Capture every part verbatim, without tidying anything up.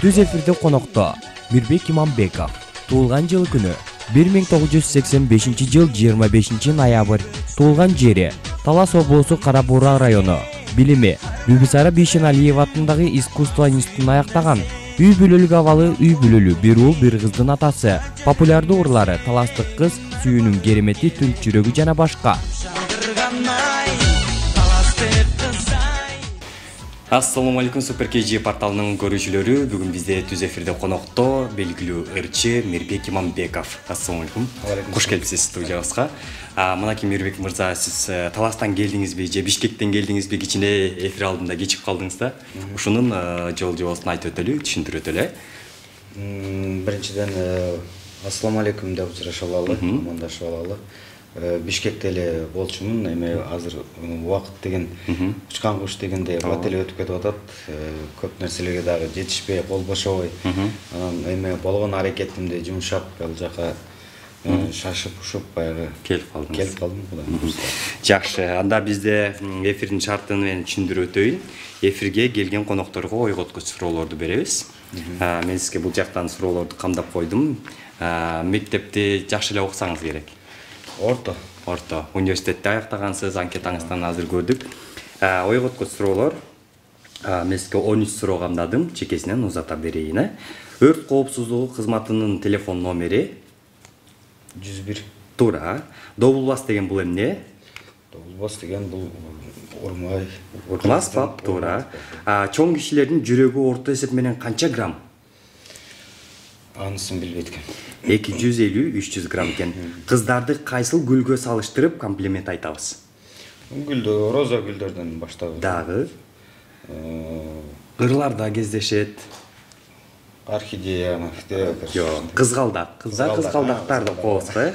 Түз эфирде конокто Мирбек Иманбеков. Туулган жылы күнү бир миң тогуз жүз сексен бешинчи жыл жыйырма бешинчи ноябрь. Туулган жери Талас облусу Кара Буура району. Билими Бибисара Бишеналиева атындагы искусство институтун аяктаган. Үй бүлөлүк абалы үй бүлөлү бир уул бир кыздын атасы. Популярдуу ырлары Таластык кыз, Сүйүүнүн керемети, Түнк жүрөгү жана башка. Ассаламу алейкум, Супер кей джи порталынын көрүүчүлөрү. Бүгүн бизде түз эфирде конокто белгилүү ырчы Мирбек Иманбеков. Ассаламу алейкум. Кош келипсиз студиябызга. Мынакей Мирбек мырза, сиз Таластан келдиңизби же Бишкектен келдиңизби? Кичине эфир алдында кечип калдыңыз да. Ушунун жол жобосун айтып өтөлү, түшүндүрүп өтөлү. Биринчиден ассаламу алейкум деп сурашып алалы, амандашып алалы. Бишкекте эле болчумун, эми азыр убакыт деген учкан куш дегендей бат эле өтүп кетип атат. Көп нерселерге дагы жетишпей, кол бошобой. Анан эми болгон аракетимди жумшап, ал жака шашып ушуп баягы келип калдым. Келип калдым. Жакшы. Анда бизде эфирдин шартын мен түшүндүрүп өтөйүн. Эфирге келген конокторго ойготкуч суроолорду беребиз. Мен сизге бул жактан суроолорду камдап койдум. Мектепти жакшы эле окусаңыз керек. Орто. Орто. Университетте аяктагансыз, анкетаңыздан азыр көрдүк. Ойготкуч суроолор. Мен сизге он үч суроо камдадым, чекесинен узата берейин. Өрт коопсуздугу кызматынын телефон номери жүз бир. Туура. Добулбас деген бул эмне? Добулбас деген бул урмай. Урмас бап, туура. Чоң кишилердин жүрөгү орто эсеп менен канча грамм? Анысын билбейт экен. эки жүз элүү үч жүз грамм экен. Кыздарды кайсыл гүлгө салыштырып комплимент айтабыз? Гүлдө, роза гүлдөрдөн баштап. Дагы ырларда кездешет. Орхидея, жок, кызгалдак. Кыздар кызгалдактарды коебуз го.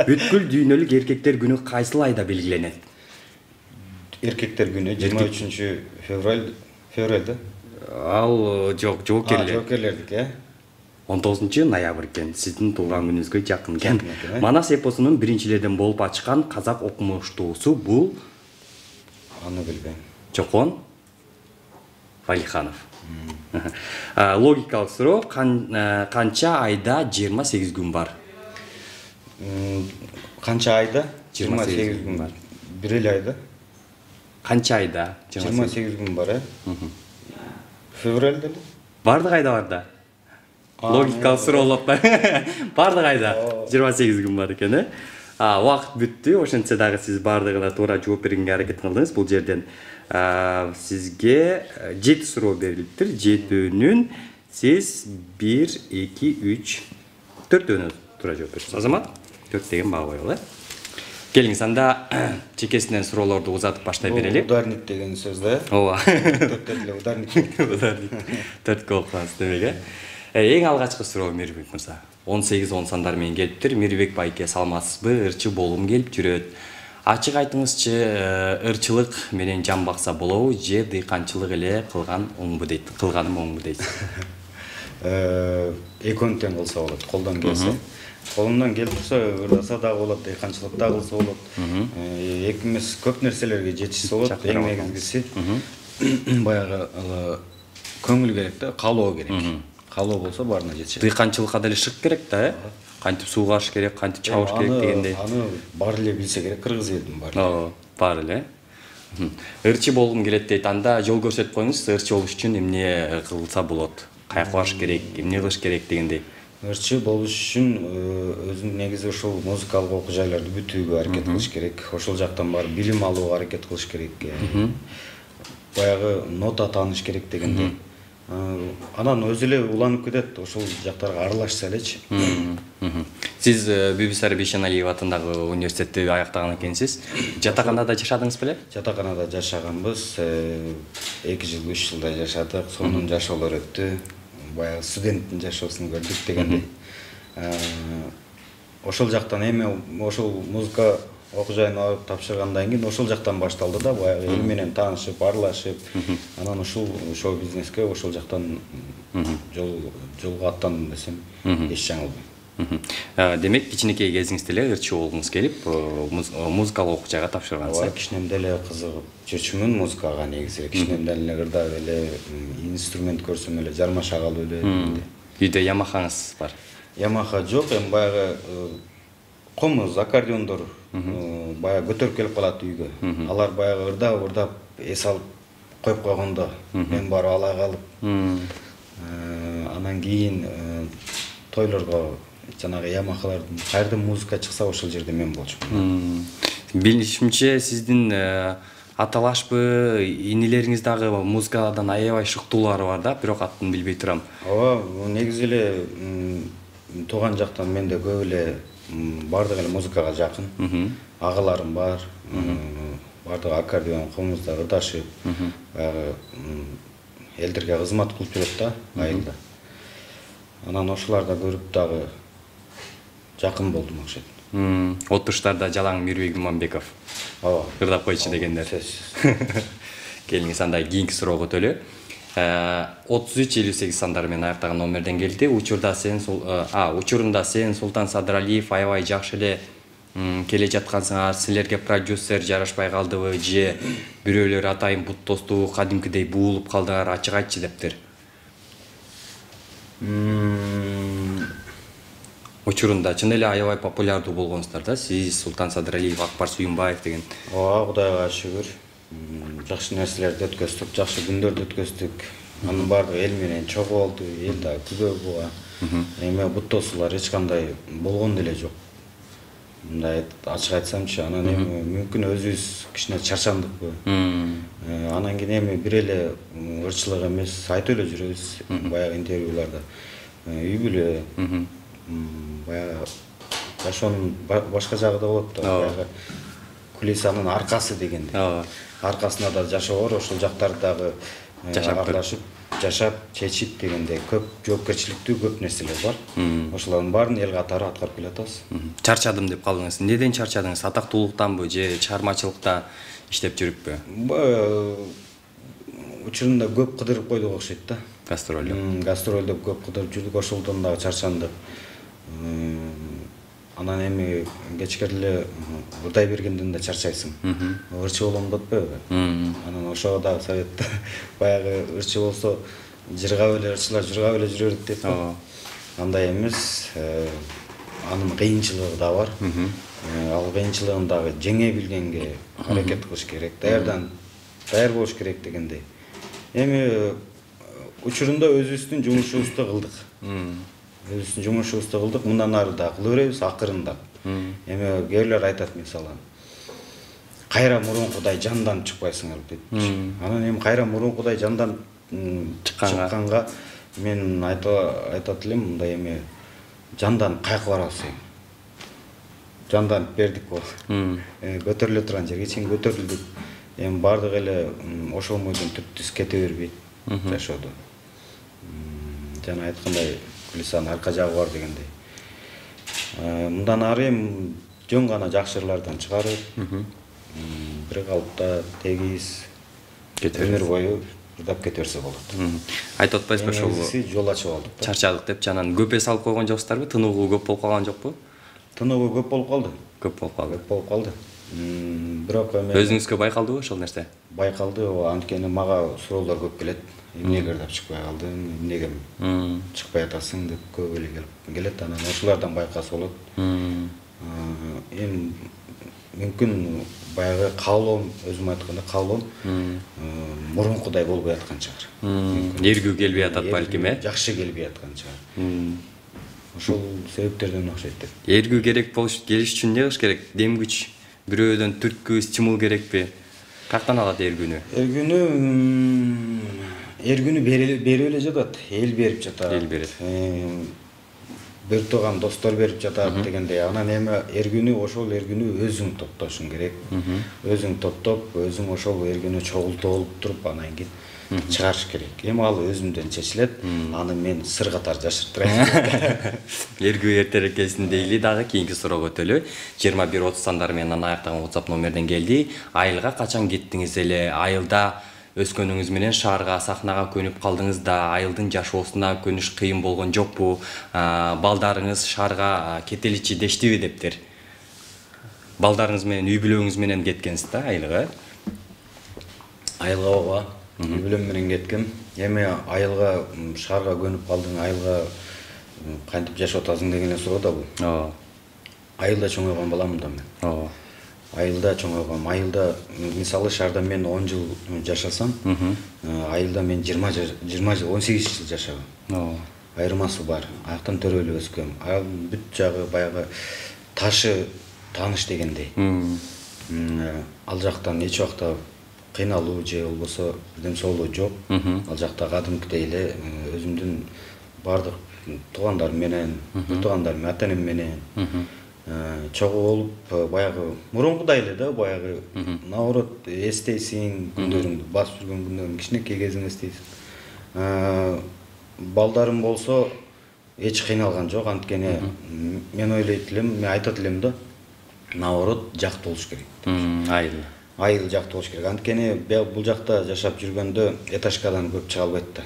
Бүткүл дүйнөлүк эркектер күнү кайсыл айда белгиленет? Эркектер күнү жыйырма үчүнчү февраль, февралда. Ал жок, жоокерлер. Жоокерлердик, э? он тогузунчу ноябрь экен. Сиздин туулган күнүңүзгө жакын экен. Манас эпосунун биринчилерден болуп ачкан казак окумуштуусу бул? Аны билбейм. Чокон Валиханов. Логикалык суроо, канча айда жыйырма сегиз күн бар? Канча айда жыйырма сегиз күн бар? Бир эле айда. Канча айда жыйырма сегиз күн бар, э? Февралда эле. Бардык айда бар да. Логикалык суроолор да. Бардык айда жыйырма сегиз күн бар экен, э? Убакыт бүттү. Ошентсе дагы сиз бардыгына туура жооп бергенге аракет кылдыңыз. Бул жерден сизге жети суроо берилиптир. Жетөөнүн сиз бир, эки, үч, төртөөнү туура жооп бериңиз. Азамат, төрт деген баа коелу, э? Келиңиз, анда чекесинен суроолорду узатып баштай берели. Ударник деген сөз да, э? Ооба. Төрттө эле ударник. Ударник. Төрткө окугансыз демек, э? Эң алгачкы суроо Мирбек мырза. он сегиз он сандар менен келиптир. Мирбек байке саламатсызбы? Ырчы болгум келип жүрөт. Ачык айтыңызчы, ырчылык менен жан бакса болобу же дыйканчылык эле кылган оңбу дейт. Кылганым оңбу дейт. Э, экөөнү тең кылса болот, колдон келсе. Колундан келип турса, ырдаса дагы болот, дыйканчылык дагы кылса болот. Экимиз көп нерселерге жетишсе болот. Эң негизгиси баягы көңүл керек да, каалоо керек. Каалоо болсо баарына жетишет. Дыйканчылыкка деле шык керек да, э? Кантип суу карыш керек, кантип чабыш керек дегендей. Аны баары эле билсе керек, кыргыз элдин баары. Ооба, баары эле. Ырчы болгум келет дейт. Анда жол көрсөтүп коюңуз, ырчы болуш үчүн эмне кылса болот? Каяка барыш керек, эмне кылыш керек дегендей. Ырчы болуш үчүн өзүнүн негизи ушул музыкалык окуу жайларды бүтүүгө аракет кылыш керек. Ошол жактан барып билим алууга аракет кылыш керек. Баягы нота тааныш керек дегендей. Анан өзү эле уланып кетет, ошол жактарга аралашса элечи. Сиз Бибисара Бишеналиева атындагы университетти аяктаган экенсиз. Жатаканада жашадыңыз беле? Жатаканада жашаганбыз. эки жыл, үч жылдай жашадык. Сонун жашоолор өттү. Баягы студенттин жашоосун көрдүк дегендей. Ошол жактан эми ошол музыка окуу жайына барып тапшыргандан кийин ошол жактан башталды да, баягы эл менен таанышып, аралашып, анан ушул шоу-бизнеске ошол жактан жол жолго аттандым десем эч жаңылбайм. Демек кичинекей кезиңизде эле ырчуу болгуңуз келип, музыкалык окуучага тапшыргансыз. Ооба, кичинемден эле кызыгып жүрчүмүн музыкага негизи. Кичинемден эле ырдап эле, инструмент көрсөм эле жармаша калып эле. Үйдө Ямахаңыз бар? Ямаха жок, эми баягы комуз, аккордеондор баягы көтөрүп келип калат үйгө. Алар баягы ырдап, ырдап эс алып коюп койгондо мен барып ала калып, анан кийин тойлорго жанагы Ямахалардын кайерден музыка чыкса ошол жерде мен болчумун. Билишимче сиздин аталашпы, инилериңиз дагы музыкадан аябай шыктуулары бар да, бирок атын билбей турам. Ооба, негизи эле тууган жактан менде көп эле бардык эле музыкага жакын. Агаларым бар. Бардыгы аккордеон, комузда ырдашып, баягы элдерге кызмат кылып жүрөт да, айылда. Анан ошоларда көрүп дагы жакын болдум окшойт. Отуштарда жалаң Мирбек Иманбеков. Ооба. Ырдап койчу дегендер. Келиңиз андай кийинки суроого өтөлү. отуз үч элүү сегиз сандары менен аяктаган номерден келди. Учурда сен а учурунда сен Султан Садыралиев аябай жакшы эле келе жаткансыңар. Силерге продюсер жарашпай калдыбы же бирөөлөр атайын бут досту кадимкидей буулуп калдыңар, ачык айтчы дептир. Учурунда чын эле аябай популярдуу болгонсуздар да, сиз, Султан Садыралиев, Акбар Сүйүнбаев деген. Ооба, Кудайга шүгүр. Жакшы нерселерди өткөздүк, жакшы күндөрдү өткөздүк. Анын баардыгы эл менен чогуу болду, эл да күбө буга. Эми бут достуулар эч кандай болгон деле жок. Мындай ачык айтсамчы, анан эми мүмкүн өзүбүз кичине чарчандыкпы. Анан кийин эми бир эле ырчылык эмес, айтып эле жүрөбүз баягы интервьюларда. Үй бүлө, баягы жашоонун башка жагы да болот да, баягы кулисанын аркасы дегендей. Аркасында да жашоо бар, ошол жактарды дагы аралашып, жашап, чечип дегендей көп жоопкерчиликтүү көп нерселер бар. Ошолордун баарын эл катары аткарып келатабыз. Чарчадым деп калдыңыз. Неден чарчадыңыз? Атактуулуктанбы же чыгармачылыкта иштеп жүрүппү? Учурунда көп кыдырып койдук окшойт да. Гастролдо. Гастролдо көп кыдырып жүрдүк, ошолдон дагы чарчандык. Анан эми кечкериле ырдай бергенден да чарчайсың. Ырчы болом деп атпайбы? Анан ошого дагы совет баягы ырчы болсо жыргап эле ырчылар жыргап эле жүрө берет деп. Андай эмес, анын кыйынчылыгы да бар. Ал кыйынчылыгын дагы жеңе билгенге аракет кылыш керек, даярдан даяр болуш керек дегендей. Эми учурунда өзүбүздүн жумушубузду кылдык. Өзүбүздүн жумушубузду кылдык, мындан ары да кыла беребиз, акырында. Эми кээрлер айтат мисалы, кайра мурункудай жандан чыкпайсыңар дейт. Анан эми кайра мурункудай жандан чыкканга мен айтат элем, мындай эми жандан кайкы барабыз эми. Жандан бердик бол. Көтөрүлө турган жерге чейин көтөрүлдүк. Эми бардык эле ошол мойдон түптүз кете бербейт жашоодо. Жана айткандай кулисанын арка жагы бар дегендей. Мындан ары эми жөн гана жакшы ырлардан чыгарып, бир калыпта тегиз өмүр бою ырдап кете берсе болот. Айтып атпайсызбы ошол жол ачып алдык. Чарчадык деп жанан көп эс алып койгон жоксуздарбы? Тыныгуу көп болуп калган жокпу? Тыныгуу көп болуп калды. Көп болуп калды. Көп болуп калды. Бирок эми өзүңүзгө байкалдыбы ошол нерсе? Байкалды, анткени мага суроолор көп келет. Эмнеге ырдап чыкпай калдың, эмнеге чыкпай атасың деп көп эле келет. Анан ошолордон байкаса болот. Эми мүмкүн баягы каалоом, өзүм айтканда каалоом мурункудай болбой аткан чыгар. Эргүү келбей атат балким, э? Жакшы келбей аткан чыгар. Ошол себептерден окшойт деп. Эргүү керек болуш, келиш үчүн эмне кылыш керек? Дем күч, бирөөдөн түрткү, стимул керекпи? Каяктан алат эргүүнү? Эргүүнү эргүүнү берип эле жатат, эл берип жатат. Эл берет. Бир тууган достор берип жатат дегендей. Анан эми эргүүнү ошол эргүүнү өзүң топтошуң керек. Өзүң топтоп, өзүң ошол эргүүнү чогултуп алып туруп, анан кийин чыгарыш керек. Эми ал өзүмдөн чечилет. Аны мен сыр катары жашыртпайм. Эргүү эртерээк келсин дейли, дагы кийинки суроого өтөлү. жыйырма бир отуз сандары менен аяктаган WhatsApp номерден келди. Айылга качан кеттиңиз эле? Айылда өскөнүңүз менен шаарга, сахнага көнүп калдыңыз да, айылдын жашоосуна көнүш кыйын болгон жокпу? Балдарыңыз шаарга кетеличи дештиби дептир? Балдарыңыз менен, үй бүлөңүз менен кеткенсиз да айылга? Айылга ооба, үй бүлөм менен кеткем. Эми айылга, шаарга көнүп калдың, айылга кантип жашап атасың деген суроо да бул. Ооба. Айылда чоңойгон баламын да мен. Ооба. Айылда чоңойгом. Айылда мисалы шаарда мен он жыл жашасам, айылда мен жыйырма жыл, он сегиз жыл жашагам. Ооба. Айырмасы бар. Аяктан төрөлүп өскөм. Ал бүт жагы баягы ташы тааныш дегендей. Ал жактан эч убакта кыйналуу же болбосо бирдем соолуу жок. Ал жакта кадимкидей эле өзүмдүн бардык туугандарым менен, туугандарым, ата-энем менен чогуу болуп, баягы мурункудай эле да, баягы наоборот эстейсиң күндөрүңдү, басып жүргөн күндөрүң, кичинекей кезиңди эстейсиң. Балдарым болсо эч кыйналган жок, анткени мен ойлойт элем, мен айтат элем да, наоборот жактуу болуш керек. Айыл. Айыл жактуу болуш керек. Анткени бул жакта жашап жүргөндө этажкадан көп чыга албайт да.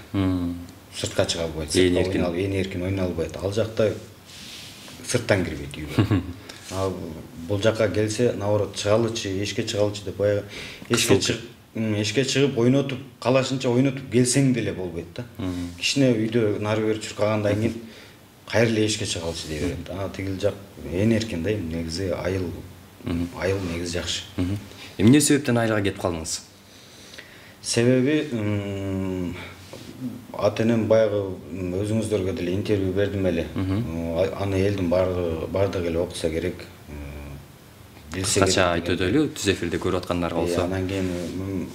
Сыртка чыга албайт. Ээн эркин ойной албайт. Ал жакта сырттан кирбейт үйгө. А бул жакка келсе, наоборот чыгалычы, эшикке чыгалычы деп баягы эшикке чыгып, эшикке чыгып ойнотуп, калашынча ойнотуп келсең деле болбойт да. Кичине үйдө нары бери чуркагандан кийин кайра эле эшикке чыгалычы дей берет. А тигил жак ээн эркин да, негизи айыл, айыл негизи жакшы. Эмне себептен айылга кетип калдыңыз? Себеби ата-энем баягы өзүңүздөргө деле интервью бердим эле. Аны элдин бардыгы эле окуса керек. Билсе керек. Кача айтып өтөлү, түз эфирде көрүп аткандар болсо. Анан кийин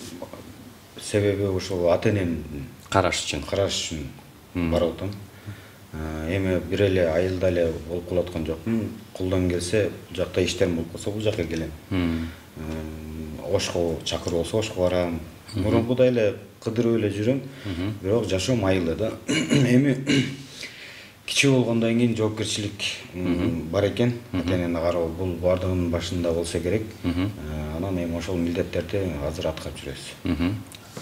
себеби ошол ата-энем караш үчүн. Караш үчүн барып атам. Эми бир эле айылда эле болуп калаткан жокмун. Колдон келсе, бул жакта иштерим болуп калса, бул жакка келем. Ошко чакыр болсо, ошко барам. Мурункудай эле кыдырып эле жүрөм, бирок жашоом айылда да. Эми кичүү болгондон кийин жоопкерчилик бар экен, ата-энени кароо бул бардыгынын башында болсо керек. Анан эми ошол милдеттерди азыр аткарып жүрөбүз.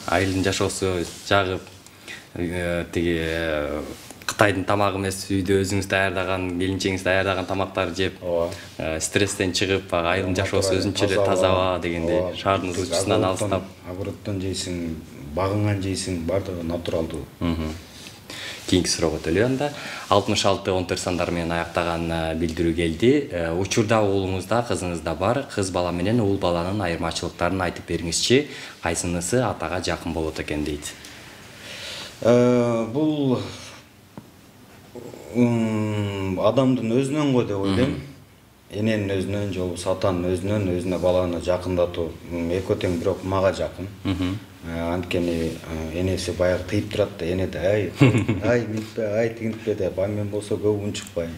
Айылдын жашоосу жагып, тиги Кытайдын тамагы эмес, үйдө өзүңүз даярдаган, келинчеңиз даярдаган тамактарды жеп, стресстен чыгып, айылдын жашоосу өзүнчө эле тазаба дегендей, шаардын ызычысынан алыстап. Огороддон жейсиң, багыңан жейсиң, бардыгы натуралдуу. Кийинки суроого өтөлү анда. алтымыш алты он төрт сандар менен аяктаган билдирүү келди. Учурда уулуңузда, кызыңызда бар. Кыз бала менен уул баланын айырмачылыктарын айтып бериңизчи. Кайсынысы атага жакын болот экен дейт. Бул адамдын өзүнөн го деп ойлойм. Эненин өзүнөн же болбосо атанын өзүнөн өзүнө баланы жакындатуу экөө тең, бирок мага жакын. Анткени энеси баягы тыйып турат да, эне да ай, ай мынтпе, ай тигинтпе деп, а мен болсо көп унчукпайм.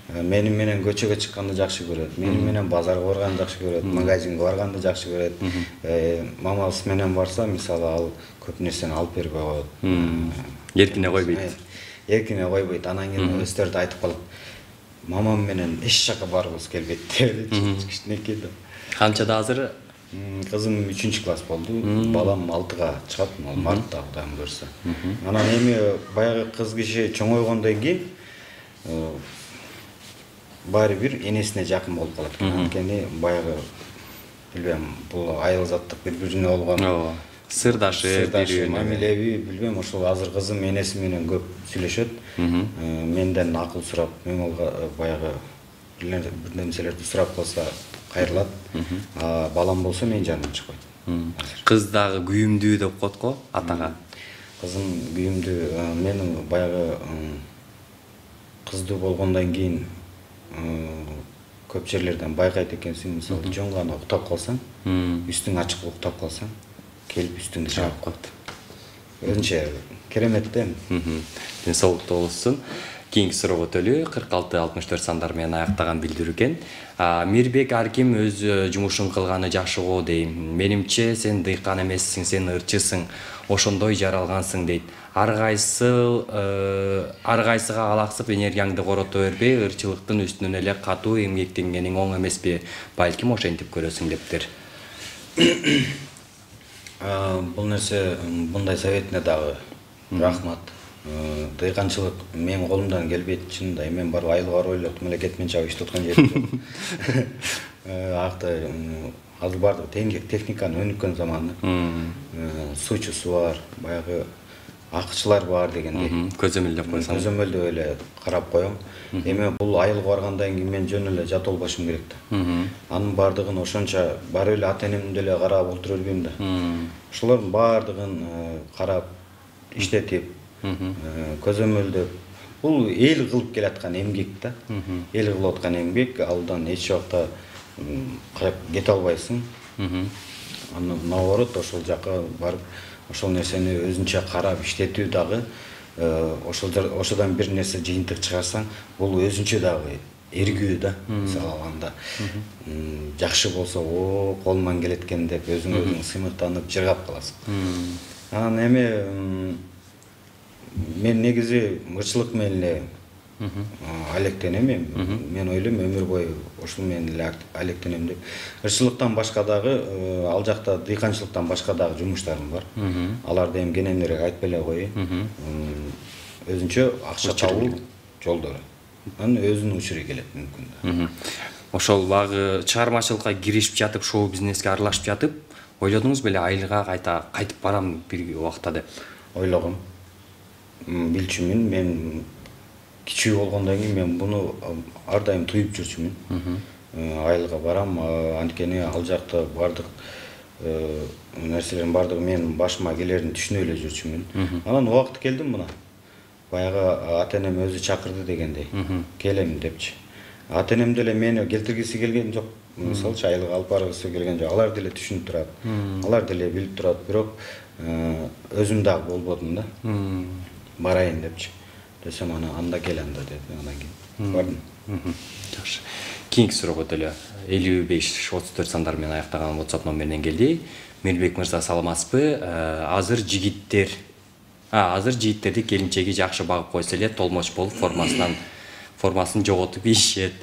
Мени менен көчөгө чыкканды жакшы көрөт, мени менен базарга барганды жакшы көрөт, магазинге барганды жакшы көрөт. Мамасы менен барса, мисалы ал көп нерсени алып бербей коет. Эркине койбойт. Эркине койбойт. Анан кийин өздөрү да айтып калат. Мамам менен эч жака баргыбыз келбейт деп, кичинекей да. Канчада азыр? Кызым үчүнчү класс болду, балам алтыга чыгат, мартта Кудайым буйрса. Анан эми баягы кыз киши чоңойгондон кийин баары бир энесине жакын болуп калат экен. Анткени баягы билбем, бул айыл заттык бири-бирине болгон сырдашы, мамилеби, билбем, ошол азыр кызым энеси менен көп сүйлөшөт. Менден акыл сурап, мен алга баягы бир нерселерди сурап калса кайрылат. Балам болсо менин жанымдан чыкпайт. Кыз дагы күйүмдүү деп коет го атага. Кызым күйүмдүү. Мен баягы кыздуу болгондон кийин көп жерлерден байкайт экенсиң, мисалы жөн гана уктап калсаң, үстүң ачык уктап калсаң, келип үстүңдү жаап коет. Өзүнчө керемет да. Ден соолуктуу болсун. Кийинки суроого өтөлү. кырк алты алтымыш төрт сандар менен аяктаган билдирүү экен. Мирбек ар ким өз жумушун кылганы жакшы го дейм. Менимче сен дыйкан эмессиң, сен ырчысың, ошондой жаралгансың дейт. Ар кайсы ар кайсыга алаксып энергияңды корото бербей, ырчылыктын үстүнөн эле катуу эмгектенгениң оң эмеспи? Балким ошентип көрөсүң дептир. Бул нерсе мындай советине дагы рахмат. Дыйканчылык менин колумдан келбейт, чынында мен барып айыл бар ойлоп мамлекет менен чабып иштеп аткан жерим. Акта азыр бардык техниканы өнүккөн заманы. Суучусу бар, баягы акчылар бар дегендей. Көзөмөлдөп койсоң. Көзөмөлдөп эле карап коем. Эми бул айылга баргандан кийин мен жөн эле жат болбошум керек да. Анын бардыгын ошончо барып эле ата энемди деле карап отура бербейм да. Ошолордун бардыгын карап, иштетип, көзөмөлдөп, бул эл кылып келаткан эмгек да. Эл кылып аткан эмгек, алдан эч убакта кете албайсың. Анан наоборот ошол жака барып, ошол нерсени өзүнчө карап иштетүү дагы, ошол ошодон бир нерсе жыйынтык чыгарсаң, бул өзүнчө дагы эргүү да. Мисалы алганда жакшы болсо, о, колуман келет экен деп өзүң өзүң сыймыктанып жыргап каласың. Анан эми мен негизи ырчылык менен эле алектенем. Мен ойлойм өмүр бою ошол менен эле алектенем деп. Ырчылыктан башка дагы, ал жакта дыйканчылыктан башка дагы жумуштарым бар. Аларды эми кененирээк айтпай эле коеюн. Өзүнчө акча табуу жолдору. Анын өзүнүн учуру келет мүмкүн да. Ошол багы чыгармачылыкка киришип жатып, шоу бизнеске аралашып жатып, ойлодуңуз беле айылга кайта кайтып барам бир убакта деп? Ойлогом. Билчүмүн, мен кичүү болгондон кийин мен буну ар дайым туюп жүрчүмүн. Айылга барам, анткени ал жакта бардык нерселердин бардыгы менин башыма келерин түшүнүп эле жүрчүмүн. Анан убакыт келди мына. Баягы ата энем өзү чакырды дегендей, келем депчи. Ата энем деле мени келтиргиси келген жок. Мисалчы айылга алып баргысы келген жок. Алар деле түшүнүп турат. Алар деле билип турат, бирок өзүм дагы болбодум да. Барайын депчи. Десем ана анда кел анда деди, андан кийин бардым. Жакшы. Кийинки суроого деле элүү беш отуз төрт сандар менен аяктаган WhatsApp номеринен келди. Мелбек мырза, саламатсызбы? Азыр жигиттер А, азыр жигиттерди келинчеги жакшы багып койсо эле толмоч болуп формасынан формасын жоготуп ийишет.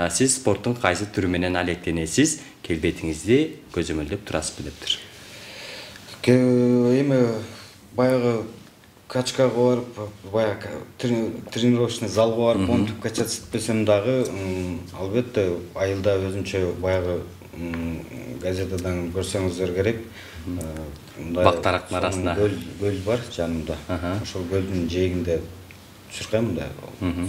Сиз спорттун кайсы түрү менен алектенесиз? Келбетиңизди көзөмөлдөп турасызбы дептир. Эми баягы качкага барып, баягы тренировочный залга барып, онтип качать этпесем дагы, албетте айылда өзүнчө баягы газетадан көрсөңүздөр керек. Бактарактын арасында көл бар жанымда. Ошол көлдүн жээгинде чуркайм да,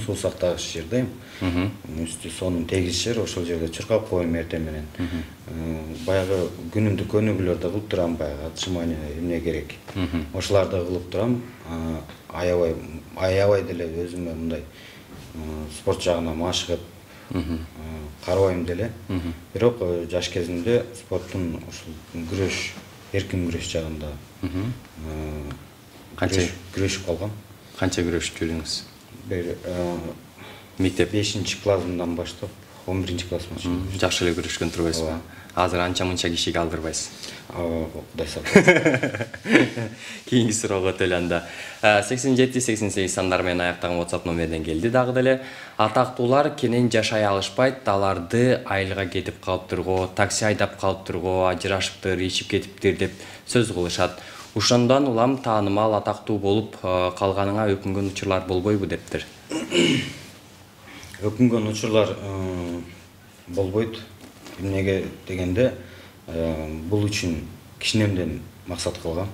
суу сактагыч жердейм. Үстү сонун тегиз жер, ошол жерде чуркап коем эртең менен. Баягы күнүмдүк өнүгүүлөрдү кылып турам, баягы отжимание эмне керек. Ошоларды кылып турам. Аябай, аябай деле өзүмө мындай спорт жагына машыгып карабайм деле. Бирок жаш кезимде спорттун ушул күрөш, эркин күрөш жагында канча күрөшүп калгам. Канча күрөшүп жүрдүңүз? Бир мектеп бешинчи классымдан баштап он биринчи классыма чейин. Жакшы эле күрөшкөн турбайсызбы? Азыр анча-мынча кишиге алдырбайсыз. Кудай сактасын. Кийинки суроого өтөлөндө сексен жети сексен сегиз сандар менен аяктаган WhatsApp номеринен келди дагы деле. Атактуулар кенен жашай алышпайт, аларды айылга кетип калыптырго, такси айдап калыптырго, ажырашыптыр, ичип кетиптир деп сөз кылышат. Ошондон улам таанымал, атактуу болуп калганыңа өкүнгөн учурлар болбойбу дептир. Өкүнгөн учурлар болбойт. Эмнеге дегенде, бул үчүн кичинемден максат кылгам.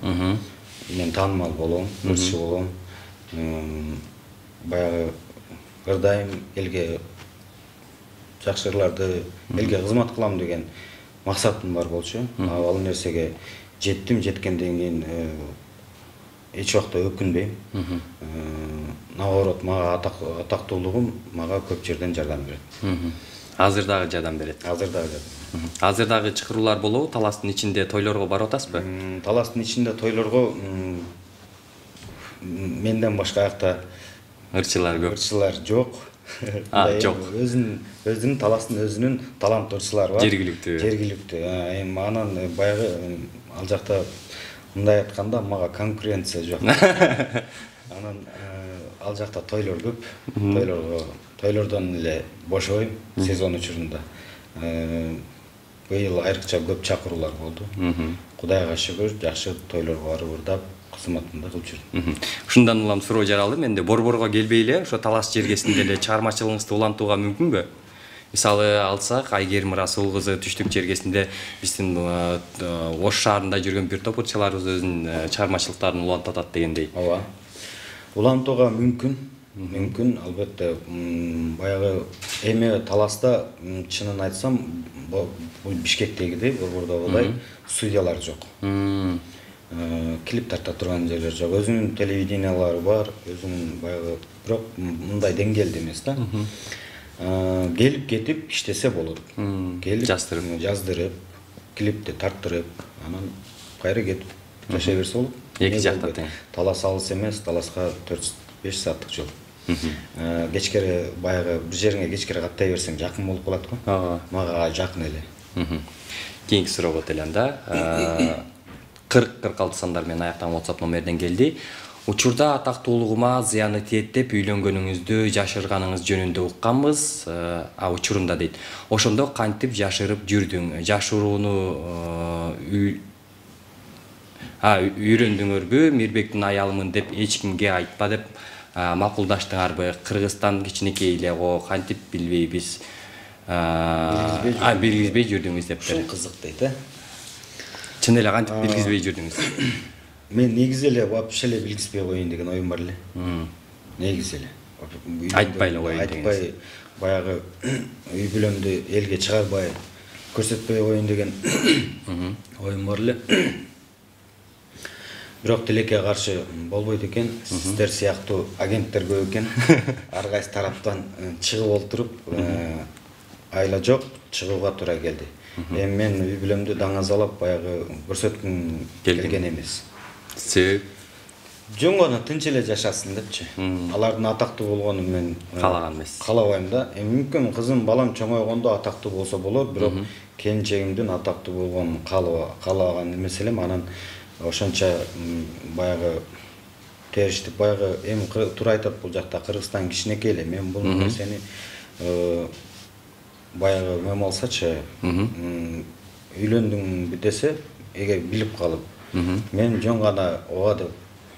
Мен таанымал болом, ырчы болом. Баягы ырдайм, элге жакшы ырларды, элге кызмат кылам деген максатым бар болчу. Ал нерсеге жеттим, жеткенден кийин эч убакта өкүнбөйм. Наоборот, мага атактуулугум мага көп жерден жардам берет. Азыр дагы жардам берет. Азыр дагы жардам. Азыр дагы чакыруулар болобу? Таластын ичинде тойлорго барып атасызбы? Таластын ичинде тойлорго менден башка акта ырчылар көп. Ырчылар жок. А, жок. Өзүнүн өзүнүн таластын өзүнүн таланттуу ырчылары бар. Жергиликтүү. Жергиликтүү. Эми анан баягы ал жакта мындай айтканда мага конкуренция жок. Анан ал жакта тойлор көп. Тойлорго тойлордон эле бошобойм сезон учурунда. быйыл айрыкча көп чакыруулар болду. Кудайга шүгүр, жакшы тойлорго барып ырдап, кызматымды кылып жүрдүм. Ушундан улам суроо жаралды. Менде Борборго келбей эле ошо Талас жергесинде эле чыгармачылыгыңызды улантууга мүмкүнбү? Мисалы алсак, Айгерим Расул кызы Түштүк жергесинде биздин Ош шаарында жүргөн бир топ ырчыларыбыз өзүнүн чыгармачылыктарын улантып атат дегендей. Ооба. Улантууга мүмкүн. Мүмкүн, албетте. Баягы эми Таласта чынын айтсам, бул Бишкектегидей, Борбордо болой студиялар жок. Клип тарта турган жерлер жок. Өзүнүн телевидениялары бар, өзүнүн баягы, бирок мындай деңгээлде эмес да. Келип кетип иштесе болот. Келип жаздырып, жаздырып, клипти тарттырып, анан кайра кетип жашай берсе болот. Эки жакта тең. Талас алыс эмес, Таласка төрт беш сааттык жол. Кечкере баягы бир жериңе кечкере каттай берсең жакын болуп калат го. Мага жакын эле. Кийинки суроого өтөлөм да. кырк кырк алты сандар менен аяктан WhatsApp номерден келди. Учурда атактуулугума зыяны тиет деп үйлөнгөнүңүздү жашырганыңыз жөнүндө укканбыз. А учурунда дейт. Ошондо кантип жашырып жүрдүң? Жашырууну а үйрөндүңөрбү? Мирбектин аялымын деп эч кимге айтпа деп макулдаштыңарбы? Кыргызстан кичинекей эле го, кантип билбейбиз. А билгизбей жүрдүңүз деп. Ушул кызык дейт, э? Чын эле кантип билгизбей жүрдүңүз? Мен негизи эле вообще эле билгизбей коеюн деген оюм бар эле. Негизи эле. Айтпай эле коеюн деген. Айтпай, баягы үй бүлөмдү элге чыгарбай, көрсөтпөй коеюн деген оюм бар эле. Бирок тилекке каршы болбойт экен. Сиздер сыяктуу агенттер көп экен. Ар кайсы тараптан чыгып олтуруп, айла жок, чыгууга туура келди. Эми мен үй бүлөмдү даңазалап баягы көрсөткүм келген эмес. Себеп? Жөн гана тынч эле жашасын депчи. Алардын атактуу болгонун мен каалаган эмес. Каалабайм да. Эми мүмкүн кызым балам чоңойгондо атактуу болсо болот, бирок келинчегимдин атактуу болгонун каалабаган эмес элем. Анан ошончо баягы териштип баягы эми туура айтат бул жакта Кыргызстан кичинекей эле. Мен бул нерсени баягы мем алсачы, үйлөндүңбү десе, эгер билип калып, мен жөн гана ооба деп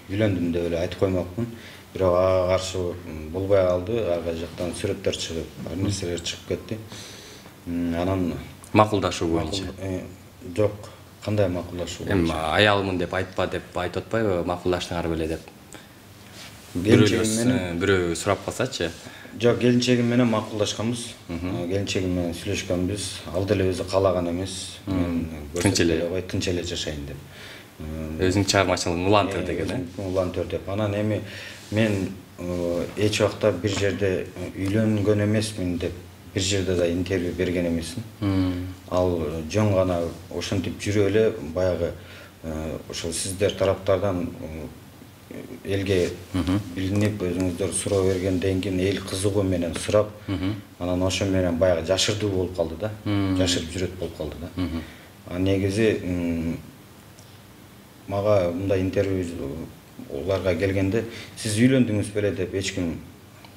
үйлөндүм деп эле айтып коймокмун. Бирок ага каршы болбой калды, ар кай жактан сүрөттөр чыгып, ар нерселер чыгып кетти. Анан макулдашуу боюнча. Жок, кандай макулдашуу? Эми аялымын деп айтпа деп айтып атпайбы, макулдаштыңар беле деп. Бирөө сурап калсачы. Жок, келинчегим менен макулдашканбыз. Келинчегим менен сүйлөшкөнбүз. Ал деле өзү каалаган эмес. Мен тынч эле ой тынч эле жашайын деп. Өзүң чыгармачылыгын улантыр деген, э? Улантыр деп. Анан эми мен эч убакта бир жерде үйлөнгөн эмесмин деп бир жерде да интервью берген эмесмин. Ал жөн гана ошентип жүрүп эле баягы ошол сиздер тараптардан элге билинип, өзүңүздөр суроо бергенден кийин эл кызыгуу менен сурап, анан ошо менен баягы жашырдуу болуп калды да. Жашырып жүрөт болуп калды да. А негизи мага мындай интервью уларга келгенде сиз үйлөндүңүз беле деп эч ким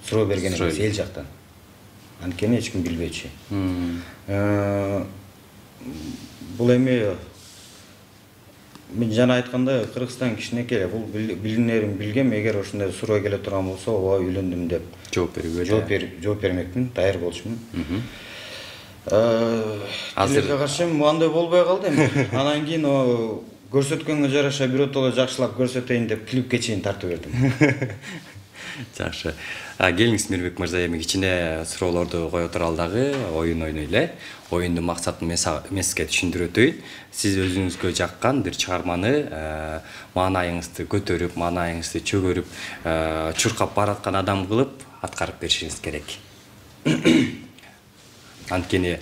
суроо берген эмес эл жактан. Анткени эч ким билбейчи. Бул эми мен жана айткандай Кыргызстан кичинекей, бул билинерин билгем, эгер ошондой суроо келе турган болсо, ооба үйлөндүм деп жооп берүүгө жооп берип, жооп бермекмин, даяр болчумун. Азырга каршы андай болбой калды эми. Анан кийин көрсөткөнгө жараша биротоло жакшылап көрсөтөйүн деп клипке чейин тартып бердим. Жакшы. Келиңиз Мирбек мырза, эми кичине суроолорду кое туралы дагы оюн ойной эле. Оюндун максатын мен сизге түшүндүрүп өтөйүн. Сиз өзүңүзгө жаккан бир чыгарманы маанайыңызды көтөрүп, маанайыңызды чөгөрүп, чуркап бараткан адам кылып аткарып беришиңиз керек. Анткени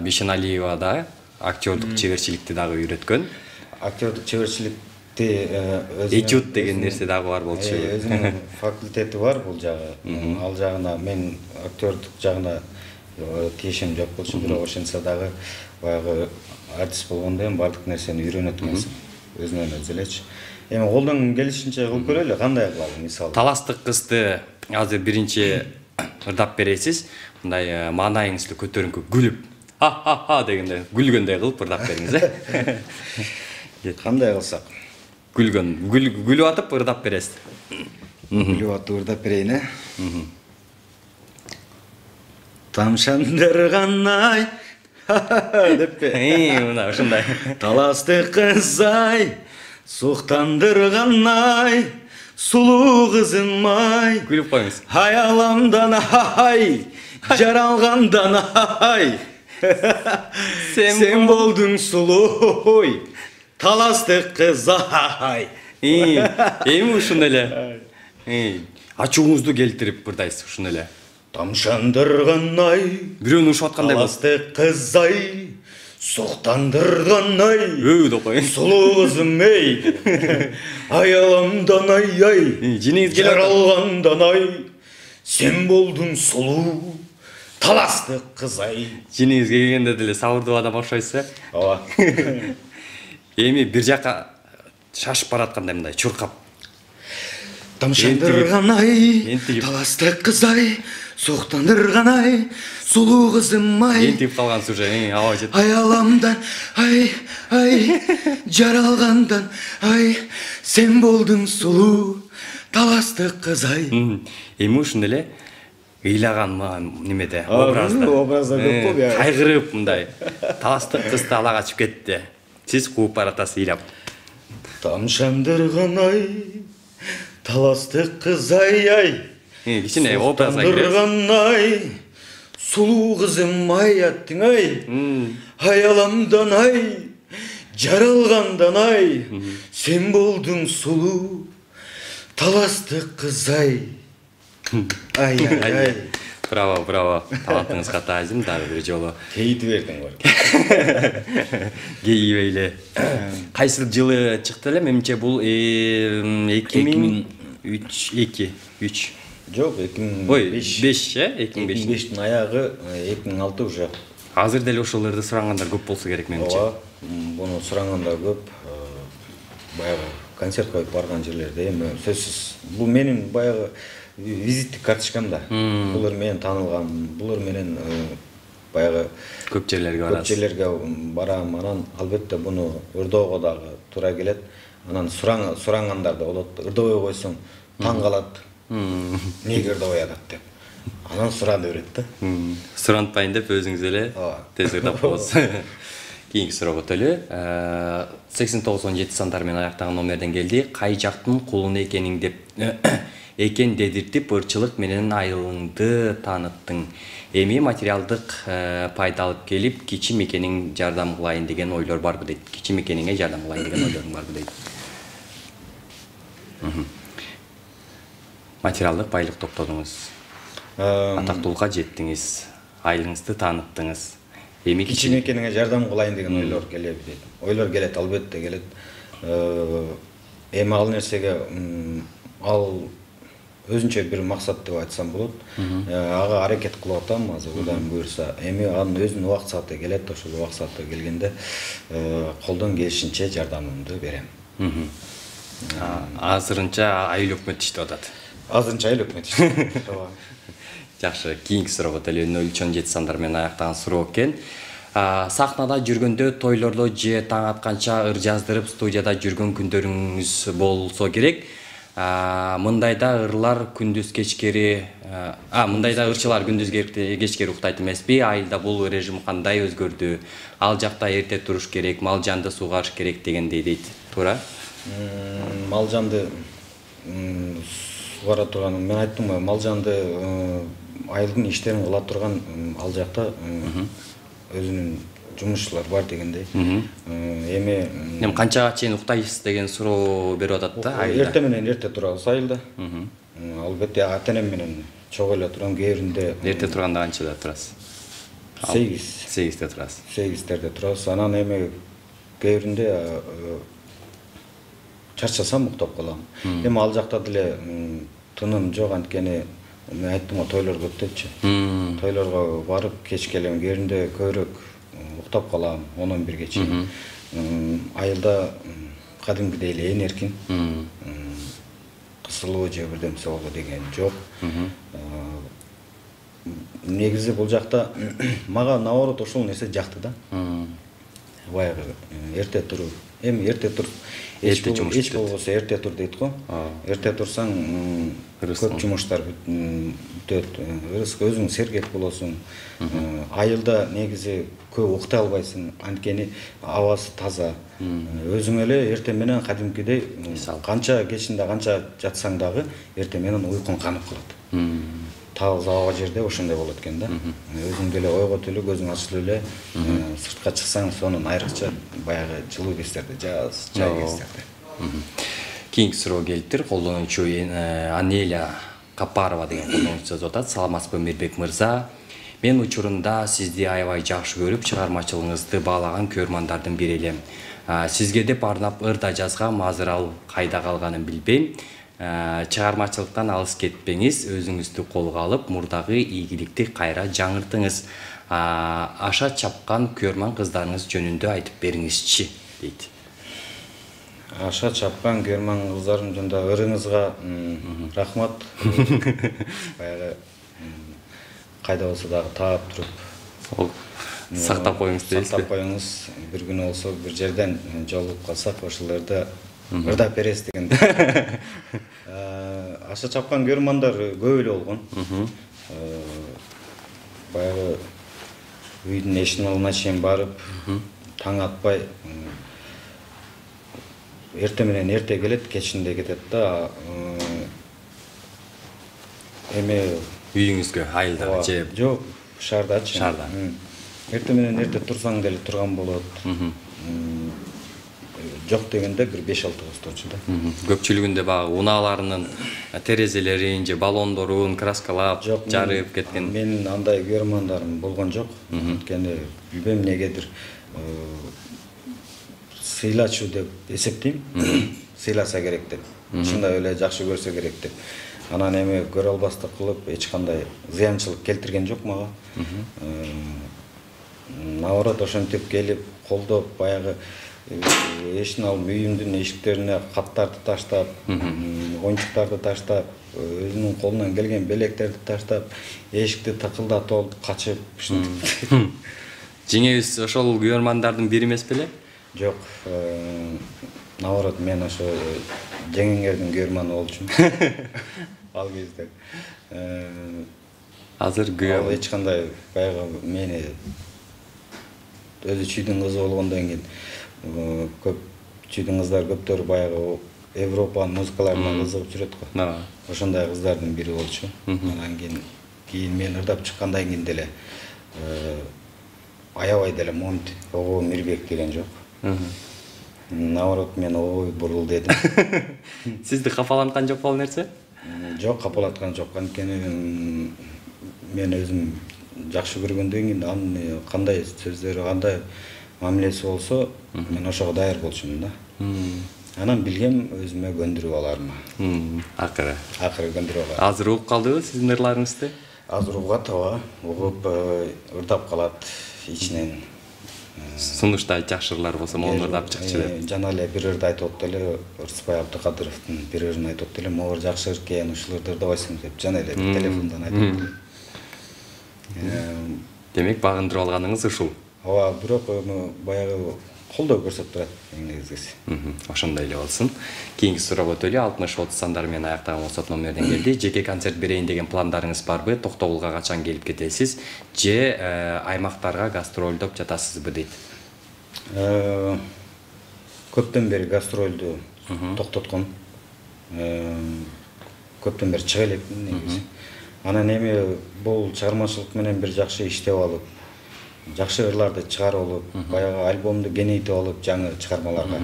Бишеналиева да актерлук чеберчиликти дагы үйрөткөн. Актерлук чеберчиликти этюд деген нерсе дагы бар болчу. Өзүнүн факультети бар бул жагы. Ал жагына мен актерлук жагына тиешем жок болчу, бирок ошентсе дагы баягы артист болгондо эми бардык нерсени үйрөнөт эмес. Өзүнөн өзү элечи. Эми колдон келишинче кылып көрөлү, кандай кылалы мисалы. Таластык кызды азыр биринчи ырдап бересиз. Мындай маанайыңызды көтөрүңкү күлүп ха ха ха дегенде күлгөндөй кылып ырдап бериңиз э. Кандай кылсак? Күлгөн, күлүп атып ырдап бересиз. Күлүп атып ырдап берейин э. Тамшандырган-ай деппи? Э, мына ушундай. Таласты кыз-ай, суктандырган-ай, сулуу кызым-ай. Күлүп коюңуз. Аяламдан-ай, жаралгандан-ай. Сен болдуң сулуу, таласты кыз-ай. Эми ушундай эле. Ачууңузду келтирип ырдайсыз ушундай эле. Тамшандырган-ай, Бирөөнү ушуп аткандай болот. таласты кыз-ай, суктандырган-ай. Өө деп коюң. Сулуу кызым-эй, аяламдан-ай, Жиниңиз келип атат. жаралгандан-ай. Сен болдуң сулуу, таласты кыз-ай. Жиниңизге келгенде деле сабырдуу адам окшойсуз э. Ооба. Эми бир жака шашып бараткандай мындай чуркап. Тамшандырган-ай, Ентигип. таласты кыз-ай, суктандырган-ай, сулуу кызым-ай. Ентип калгансыз уже, аба жет. Аяламдан, ай, ай, жаралгандан, ай, сен болдуң сулуу, таласты кыз-ай. Эми ушундай эле ыйлаган немеде, образда. Образда көп болду, я. Кайгырып мындай. Таластык кызды ала качып кетти. Сиз кууп баратасыз ыйлап. Тамшандырган-ай, таласты кыз-ай, Кичине образга кирет. суктандырган-ай, сулуу кызым-ай аттың-ай. Аяламдан-ай, жаралгандан-ай, сен болдуң сулуу, таласты кыз-ай. Ай, ай, ай. Браво, браво. Талантыңызга таазим дагы бир жолу. Кейти бердиң бар. Гейип эле. Кайсы жылы чыкты эле? Менимче бул эки миң үч эки үч. Жок, эки миң Ой, беш. беш, э? эки миң беш. эки миң бештин аягы, эки миң алты уже. Азыр деле ошолорду сурагандар көп болсо керек менимче. Ооба, буну сурагандар көп. Баягы концерт коюп барган жерлерде эми сөзсүз. Бул менин баягы визиттик карточкам да. Булар менен таанылган, булар менен баягы Көп жерлерге барасыз. Көп жерлерге барам, анан албетте буну ырдоого дагы туура келет. Анан сурангандар да болот. Ырдобой койсоң таң калат. Эмнеге ырдобой атат деп. Анан сурады берет да. Сурантпайын деп өзүңүз эле тез ырдап коесуз. Кийинки суроого өтөлү. сексен тогуз он жети сандар менен аяктаган номерден келди. Кай жактын кулуну экениң деп экен дедиртип ырчылык менен айылыңды тааныттың. Эми материалдык пайда алып келип, кичим экениң жардам кылайын деген ойлор барбы дейт. Кичим экениңе жардам кылайын деген ойлоруң барбы дейт. Материалдык байлык топтодуңуз. Атактуулукка жеттиңиз. Айылыңызды тааныттыңыз. Эми кичим экениңе жардам кылайын деген ойлор келеби дейт. Ойлор келет, албетте келет. Эми ал нерсеге ал өзүнчө бир максат деп айтсам болот. Ага аракет кылып атам азыр, Кудайым буйрса. Эми анын өзүнүн убакыт сааты келет, ошол убакыт сааты келгенде колдон келишинче жардамымды берем. Азырынча айыл өкмөт иштеп атат. Азырынча айыл өкмөт иштеп. Жакшы, кийинки суроого өтөлү. нөл үч он жети сандар менен аяктаган суроо экен. Сахнада жүргөндө, тойлордо же таң атканча ыр жаздырып студияда жүргөн күндөрүңүз болсо керек. Мындайда ырлар күндүз кечкери, а мындайда ырчылар күндүз кечкери уктайт эмеспи? Айылда бул режим кандай өзгөрдү? Ал жакта эрте туруш керек, малжанды сугарыш керек дегендей дейт. Туура? Малжанды сугара турган, мен айттым, малжанды айылдын иштерин кыла турган ал жакта өзүнүн жумушчулар бар дегендей. Эми эми канчага чейин уктайсыз деген суроо берип атат да айылда. Эрте менен эрте турабыз айылда. Албетте ата-энем менен чогуу эле турам, кээ биринде. Эрте турганда канчада турасыз? сегиз. сегизде турасыз. сегизтерде турабыз. Анан эми кээ биринде чарчасам уктап калам. Эми ал жакта деле тыным жок, анткени мен айттым го, тойлор көп депчи. Тойлорго барып кеч келем, кээ биринде көбүрөөк уктап калам, он он бирге чейин. Айылда кадимкидей эле ээн эркин. Кысылуу же бирдемсе болду деген жок. негизи бул жакта мага наоборот ошол нерсе жакты да. Баягы эрте туруп, эми эрте туруп эч болбосо эрте тур дейт го. Эрте турсаң көп жумуштар бүтөт. Өзүң сергек болосуң. Айылда негизи көп уктай албайсың, анткени абасы таза. Өзүң эле эрте менен кадимкидей канча кечинде канча жатсаң дагы эрте менен уйкуң канып калат. Таза аба жерде ошондой болот экен да. Өзүң деле ойгот эле, көзүң ачылып эле, сыртка чыксаң, сонун айрыкча баягы жылуу кездерде, жаз, жай кездерде. Кийинки суроо келиптир. Колдонуучу Анеля Капарова деген колдонуучу жазып атат. Саламатсызбы Мирбек мырза? Мен учурунда сизди аябай жакшы көрүп, чыгармачылыгыңызды баалаган көрмандардын бири элем. Сизге деп арнап ырда жазгам, азыр ал кайда калганын билбейм. Чыгармачылыктан алыс кетпеңиз, өзүңүздү колго алып, мурдагы ийгиликти кайра жаңыртыңыз. Аша чапкан көрман кыздарыңыз жөнүндө айтып бериңизчи, дейт. Аша чапкан көрман кыздарым жөнүндө ырыңызга рахмат. Баягы кайда болсо дагы таап туруп, сактап коюңуз дейсизби? Сактап коюңуз. Бир күнү болсо бир жерден жолугуп калсак, ошолорду ырдап беребиз деген. Аша чапкан көрмандар көп эле болгон. Баягы үйдүн эшигин алдына чейин барып, таң атпай, эрте менен эрте келет, кечинде кетет да. Эми үйүңүзгө, айылдагы же жок, шаардачы. Шаарда. Эрте менен эрте турсаң деле турган болот. Жок дегенде бир беш алты косточу да. Көпчүлүгүндө багы унааларынын терезелерин же баллондорун краскалап, жарып кеткен. Менин андай көрмандарым болгон жок. Анткени билбейм эмнегедир сыйлачу деп эсептейм. Сыйласа керек деп. Ушундай эле жакшы көрсө керек деп. Анан эми көрө албастык кылып эч кандай зыянчылык келтирген жок мага. Наоборот, ошентип келип, колдоп, баягы эшин алып үйүмдүн эшиктерине каттарды таштап, оюнчуктарды таштап, өзүнүн колунан келген белектерди таштап, эшикти тыкылдатып алып качып, ушинтип. Жеңебиз ошол көрмандардын бири эмес беле? Жок. Наоборот, мен ошо жеңеңердин көрманы болчумун. Ал кезде. Азыр ал эч кандай баягы мени өзү чүйдүн кызы болгондон кийин көп чүйдүн кыздар көптөрү баягы Европанын музыкаларына кызыгып жүрөт го. Ошондой кыздардын бири болчу. Анан кийин кийин мен ырдап чыккандан кийин деле аябай деле монт ого Мирбек деген жок. Наоборот, мен ой бурул дедим. Сизди капаланткан жок бул нерсе? Жок, капалаткан жок. Анткени мен өзүм жакшы көргөндөн кийин анын кандай сөздөрү, кандай мамилеси болсо, мен ошого даяр болчумун да. Анан билгем өзүмө көндүрүп алармы. Акыры. Акыры көндүрүп алам. Азыр угуп калдыбы сиздин ырларыңызды? Азыр угат, ооба. Угуп ырдап калат ичинен. Сунушта жакшы ырлар болсо, мону ырдап чыкчы деп. Жана эле бир ырды айтып атты эле, Ырсыбай Абдыкадыровдун бир ырын айтып атты эле, могу жакшы ыр экен, ушул ырды ырдабайсың деп жана эле телефондон айтып атты. Демек, багындырып алганыңыз ушул. Ооба, бирок баягы колдоо көрсөтүп турат негизгиси. Ошондой эле болсун. Кийинки суроо өтөлү. алтымыш отуз сандар менен аяктаган WhatsApp номерден келди. Жеке концерт берейин деген пландарыңыз барбы? Токтогулга качан келип кетесиз? Же аймактарга гастролдоп жатасызбы дейт. Көптөн бери гастролду токтоткон. Көптөн бери чыга элекмин негизи. Анан эми бул чыгармачылык менен бир жакшы иштеп алып, жакшы ырларды чыгарып алып, баягы альбомду кеңейтип алып жаңы чыгармаларга.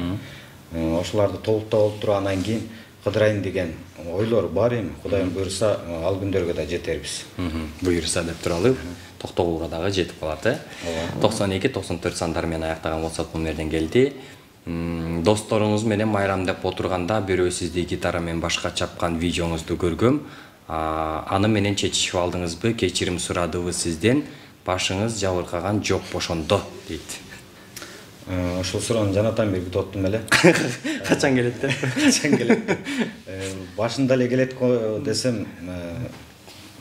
Ошоларды толуктап алып туруп анан кийин кыдырайын деген ойлор бар эми. Кудайым буйруса, ал күндөргө да жетербиз. Буйруса деп туралы. Токтогулга дагы жетип калат, э? токсон эки токсон төрт сандар менен аяктаган WhatsApp номерден келди. Досторуңуз менен майрамдап отурганда бирөө сизди гитара менен башка чапкан видеоңузду көргөм. Аны менен чечишип алдыңызбы? Кечирим сурадыбы сизден? Башыңыз жабыркаган жок бошондо, дейт. Ошол суроону жанатан бери күтүп аттым эле. Качан келет деп? Качан келет деп. Башында эле келет десем,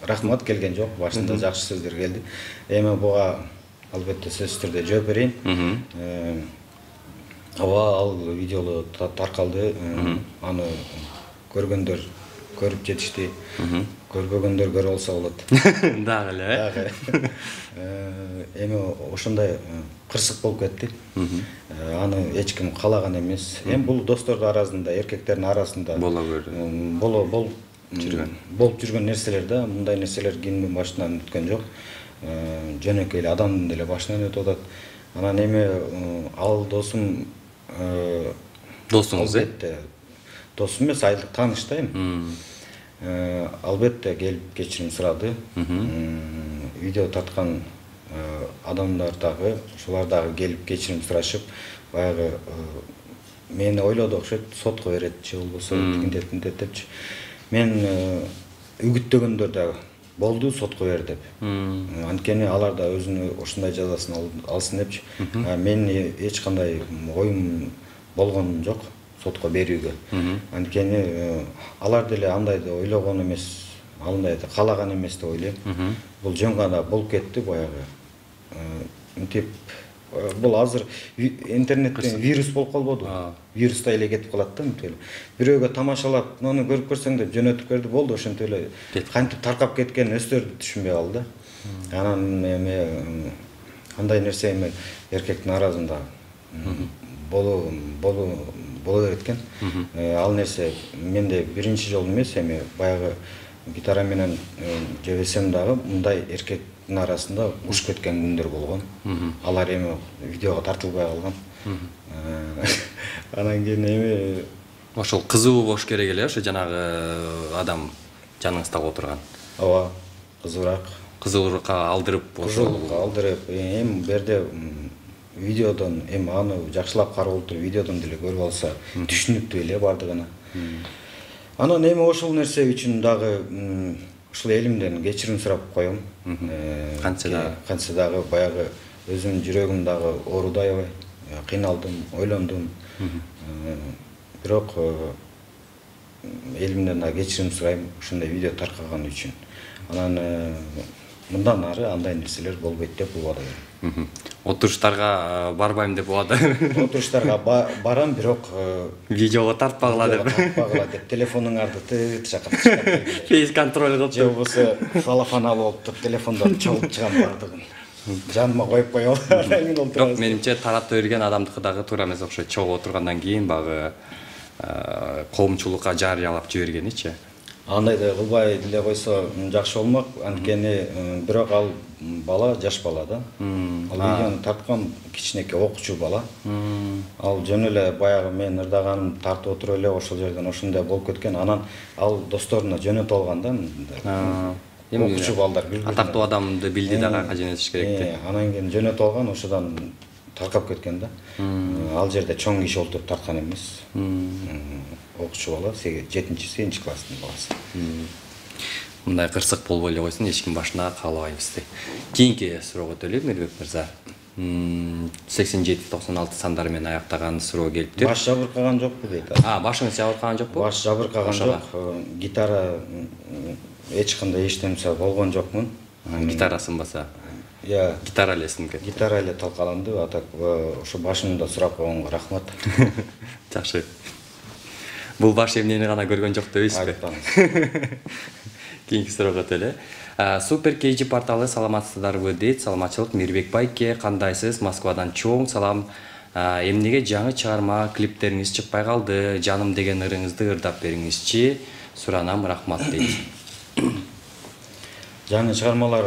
рахмат келген жок, башында жакшы сөздөр келди. Эми буга албетте сөзсүз түрдө жооп берейин. Ооба, ал видеолу таркалды. Аны көргөндөр көрүп жетишти. Көрбөгөндөр көрө алса болот. Дагы эле. Дагы. Эми ошондой кырсык болуп кетти. Аны эч ким каалаган эмес. Эми бул достордун арасында, эркектердин арасында боло берди. Боло бол жүргөн. Болуп жүргөн нерселер да, мындай нерселер кимдин башынан өткөн жок. Жөнөкөй эле адамдын деле башынан өтүп атат. Анан эми ал досум досуңуз, албетте досум эмес, айылдык тааныш да эми. Албетте келип кечирим сурады. Видео тарткан адамдар дагы, ошолар дагы келип кечирим сурашып, баягы мени ойлоду окшойт, сотко берет же болбосо тигиндеп тинтет депчи. Мен үгүттөгөндөр дагы болду, сотко бер деп. Анткени алар да өзүнүн ушундай жазасын алсын депчи. Мен эч кандай оюм болгон жок сотко берүүгө. Анткени алар деле андайды ойлогон эмес, андайды каалаган эмес деп ойлойм. Бул жөн гана болуп кетти баягы. Мынтип бул азыр интернеттен вирус болуп калбоду. Вирустай эле кетип калат да мынтип эле. Бирөөгө тамашалап, муну көрүп көрсөң деп жөнөтүп берди, болду, ошентип эле кантип таркап кеткен өздөрү түшүнбөй калды. Анан эми андай нерсе эми эркектин арасында боло боло боло берет экен. Ал нерсе менде биринчи жолу эмес, эми баягы гитара менен жебесем дагы мындай эркектин арасында уш кеткен күндөр болгон. Алар эми видеого тартылбай калган. Анан кийин эми ошол кызуу болуш керек эле, ошо жанагы адам жаныңызда отурган. Ооба, кызуураак. Кызуулукка алдырып, кызуулукка алдырып, эми берде видеодон эми аны жакшылап карап отуруп видеодон деле көрүп алса түшүнүктүү эле бардыгына. Анан эми ошол нерсе үчүн дагы ушул элимден кечирим сурап коем. Кантсе дагы кантсе дагы баягы өзүмдүн жүрөгүм дагы ооруду аябай, кыйналдым, ойлондум. Бирок элимден дагы кечирим сурайм ушундай видео таркаган үчүн. Анан мындан ары андай нерселер болбойт деп убада берем. Отуруштарга барбайм деп убада. Отуруштарга барам, бирок видеого тартпагыла деп. Тартпагыла деп телефонуңарды чакырып чыгып. Фейс контроль кылып. Же болбосо салафан алып алып телефондон чогулуп чыгам бардыгын. Жаныма коюп коём. Бирок менимче таратып берген адамдыкы дагы туура эмес окшойт. Чогуу отургандан кийин багы коомчулукка жарыялап жибергеничи. Андайды кылбай деле койсо жакшы болмок, анткени бирок ал бала жаш бала да. Ал видеону тарткан кичинекей окуучу бала. Ал жөн эле баягы мен ырдаганым тартып отуруп эле ошол жерден ошондой болуп кеткен. Анан ал досторуна жөнөтүп алган да. Окуучу балдар бир-бирине. Атактуу адамды билди дагы кайга жөнөтүш керек деп. Анан кийин жөнөтүп алган, ошодон таркап кеткен да. Ал жерде чоң киши отуруп тарткан эмес. Окуучу бала, жетинчи сегизинчи класстын баласы. Мындай кырсык болбой эле койсун, эч ким башына каалабайбыз дейт. Кийинки суроого өтөлүк, Мирбек мырза. сексен жети токсон алты сандары менен аяктаган суроо келиптир. Баш жабыркаган жокпу дейт. А, башыңыз жабыркаган жокпу? Баш жабыркаган жок. Гитара эч кандай эчтемсе болгон жокмун. Гитара сынбаса. Я гитара эле сынып кетти. Гитара эле талкаланды. Атак ошо башымда сурап койгонго рахмат. Жакшы. Бул баш эмнени гана көргөн жок дебейсизби? Кийинки суроого өтөлү. Супер Кейжи порталы саламатсыздарбы дейт. Саламатчылык, Мирбек байке, кандайсыз? Москвадан чоң салам. Эмнеге жаңы чыгарма клиптериңиз чыкпай калды? Жаным деген ырыңызды ырдап бериңизчи. Суранам, рахмат дейт. Жаңы чыгармалар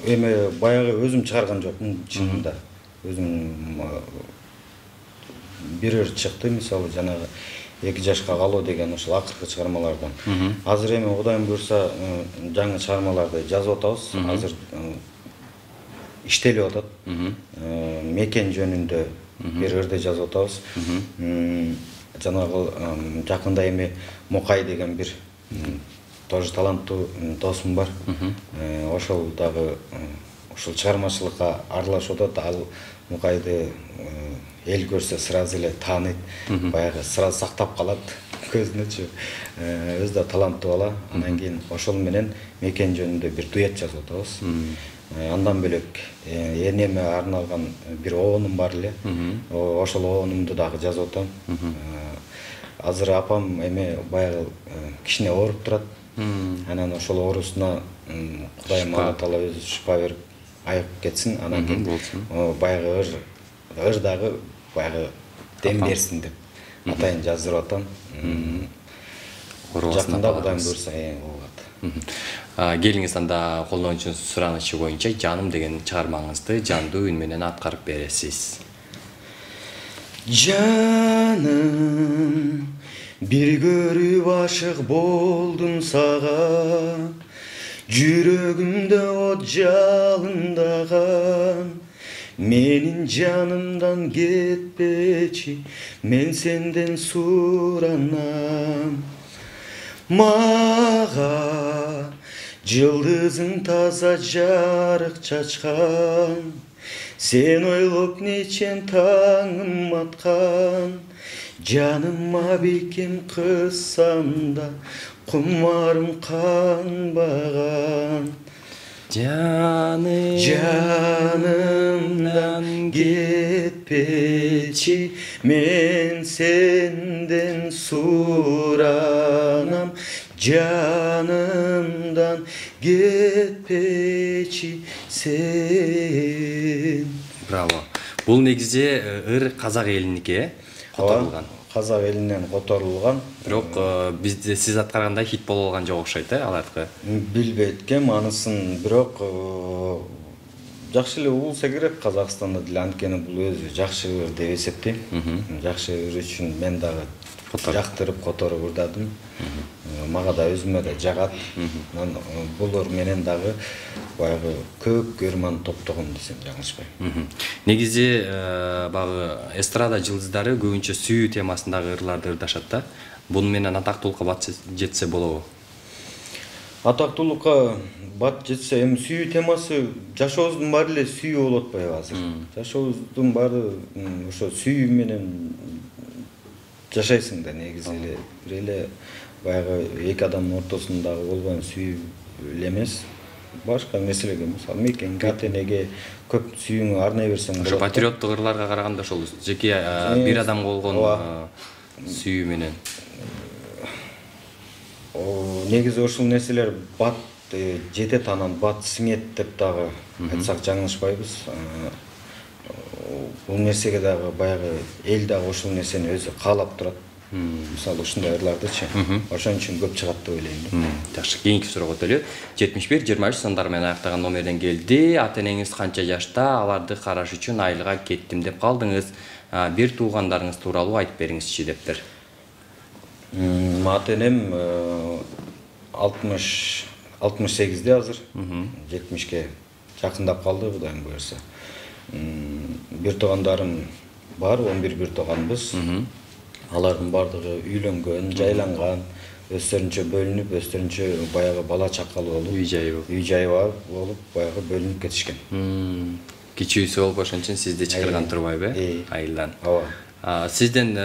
эми баягы өзүм чыгарган жокмун чынында. Өзүм бир ыр чыкты, мисалы жанагы эки жашка калуу деген ошол акыркы чыгармалардан. Азыр эми Кудайым буйрса жаңы чыгармаларды жазып атабыз. Азыр иштелип атат. Мекен жөнүндө бир ырды жазып атабыз. Жанагы жакында эми Мукай деген бир тоже таланттуу досум бар. Ошол дагы ушул чыгармачылыкка аралашып атат. Ал Мукайды эл көрсө сразу эле тааныйт, баягы сразу сактап калат көзүнөчү. Өзү да таланттуу бала. Анан кийин ошол менен мекен жөнүндө бир дуэт жазып атабыз. Андан бөлөк энеме арналган бир оонум бар эле. Ошол оонумду дагы жазып атам. Азыр апам эме баягы кичине ооруп турат. Анан ошол оорусуна Кудайым Алла Таала өзү шифа берип айыгып кетсин. Анан кийин баягы ыр ыр дагы баягы дем берсин деп атайын жаздырып атам. Жакында Кудайым буйруса болот. Келиңиз анда колдонуучунун суранычы боюнча жаным деген чыгармаңызды жандуу үн менен аткарып бересиз. Жаным, бир көрүп ашык болдум сага, жүрөгүмдө от жалындаган. Менин жанымдан кетпечи, мен сенден суранам. Мага жылдызың таза жарык чачкан, сен ойлоп нечен таңым аткан. Жаныма бекем кыссам да кумарым канбаган. Жаным, жанымдан кетпечи, мен сенден суранам. Жанымдан кетпечи сен. Браво. Бул негизи ыр казак элиники которулган. Казак элинен которулган. Бирок бизде сиз аткаргандай хит боло алган жок окшойт, э, алардыкы. Билбейт экенмин анысын, бирок жакшы эле угулса керек Казакстанда деле, анткени бул өзү жакшы ыр деп эсептейм. Жакшы ыр үчүн мен дагы жактырып которуп ырдадым. Мага да өзүмө да жагат. Мен бул ыр менен дагы баягы көп көрман топтогом десем жаңылышпайм. Негизи багы эстрада жылдыздары көбүнчө сүйүү темасындагы ырларды ырдашат да. Бунун менен атактуулукка бат жетсе болобу? Атактуулукка бат жетсе, эми сүйүү темасы жашообуздун баары эле сүйүү болуп атпайбы азыр? Жашообуздун баары ошо сүйүү менен жашайсың да негизи эле. Бир эле баягы эки адамдын ортосундагы болбойм сүйүү эле эмес. Башка нерселерге, мисалы, мекенге, ата-энеге көп сүйүүңү арнай берсең болот. Ошо патриоттук ырларга караганда ошол жеке бир адамга болгон сүйүү менен. Негизи ошол нерселер бат жетет, анан бат сиңет деп дагы айтсак жаңылышпайбыз. Бул нерсеге дагы баягы эл дагы ошол нерсени өзү каалап турат. Мисалы ушундай ырлардычы. Ошон үчүн көп чыгат деп ойлойм. Жакшы, кийинки суроого өтөлү. жетимиш бир жыйырма үч сандар менен аяктаган номерден келди. Ата-энеңиз канча жашта? Аларды караш үчүн айылга кеттим деп калдыңыз. Бир туугандарыңыз тууралуу айтып бериңизчи дептир. Ата-энем алтымыш сегизде азыр. жетимишке жакындап калды, Кудайым буйруса. Бир туугандарым бар, он бир бир тууганбыз. Алардын бардыгы үйлөнгөн, жайланган, өздөрүнчө бөлүнүп, өздөрүнчө баягы бала чакалуу болуп, үй жайы болуп, үй жайы болуп, баягы бөлүнүп кетишкен. Кичүүсү болуп ошон үчүн сизди чакырган турбайбы? Айылдан. Ооба. Сизден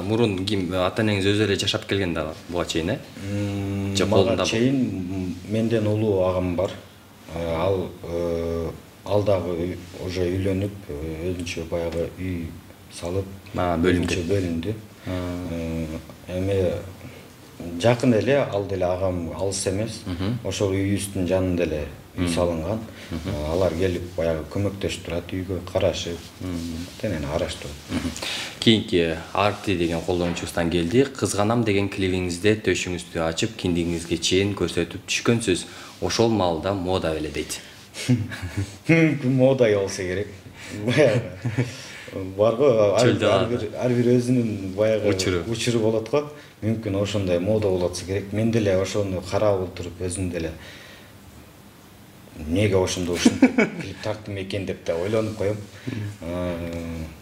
мурун ким ата-энеңиз өзү эле жашап келген да буга чейин, э? Мага чейин менден улуу агам бар. Ал ал дагы уже үйлөнүп, өзүнчө баягы үй салып, бөлүнчө бөлүндү. Эми жакын эле ал деле агам алыс эмес. Ошол үйүбүздүн жанында эле үй салынган. Алар келип баягы көмөктөшүп турат, үйгө карашып, тенен араштырып. Кийинки Арти деген колдонуучубуздан келди. Кызганам деген клибиңизде төшүңүздү ачып, киндигиңизге чейин көрсөтүп түшкөнсүз. Ошол маалда мода беле дейт. Мода болсо керек. Бар го, ар бир өзүнүн баягы учуру болот го. Мүмкүн ошондой мода болотса керек. Мен деле ошону карап отуруп өзүм деле неге ошондой ушинтип клип тарттым экен деп да ойлонуп коем.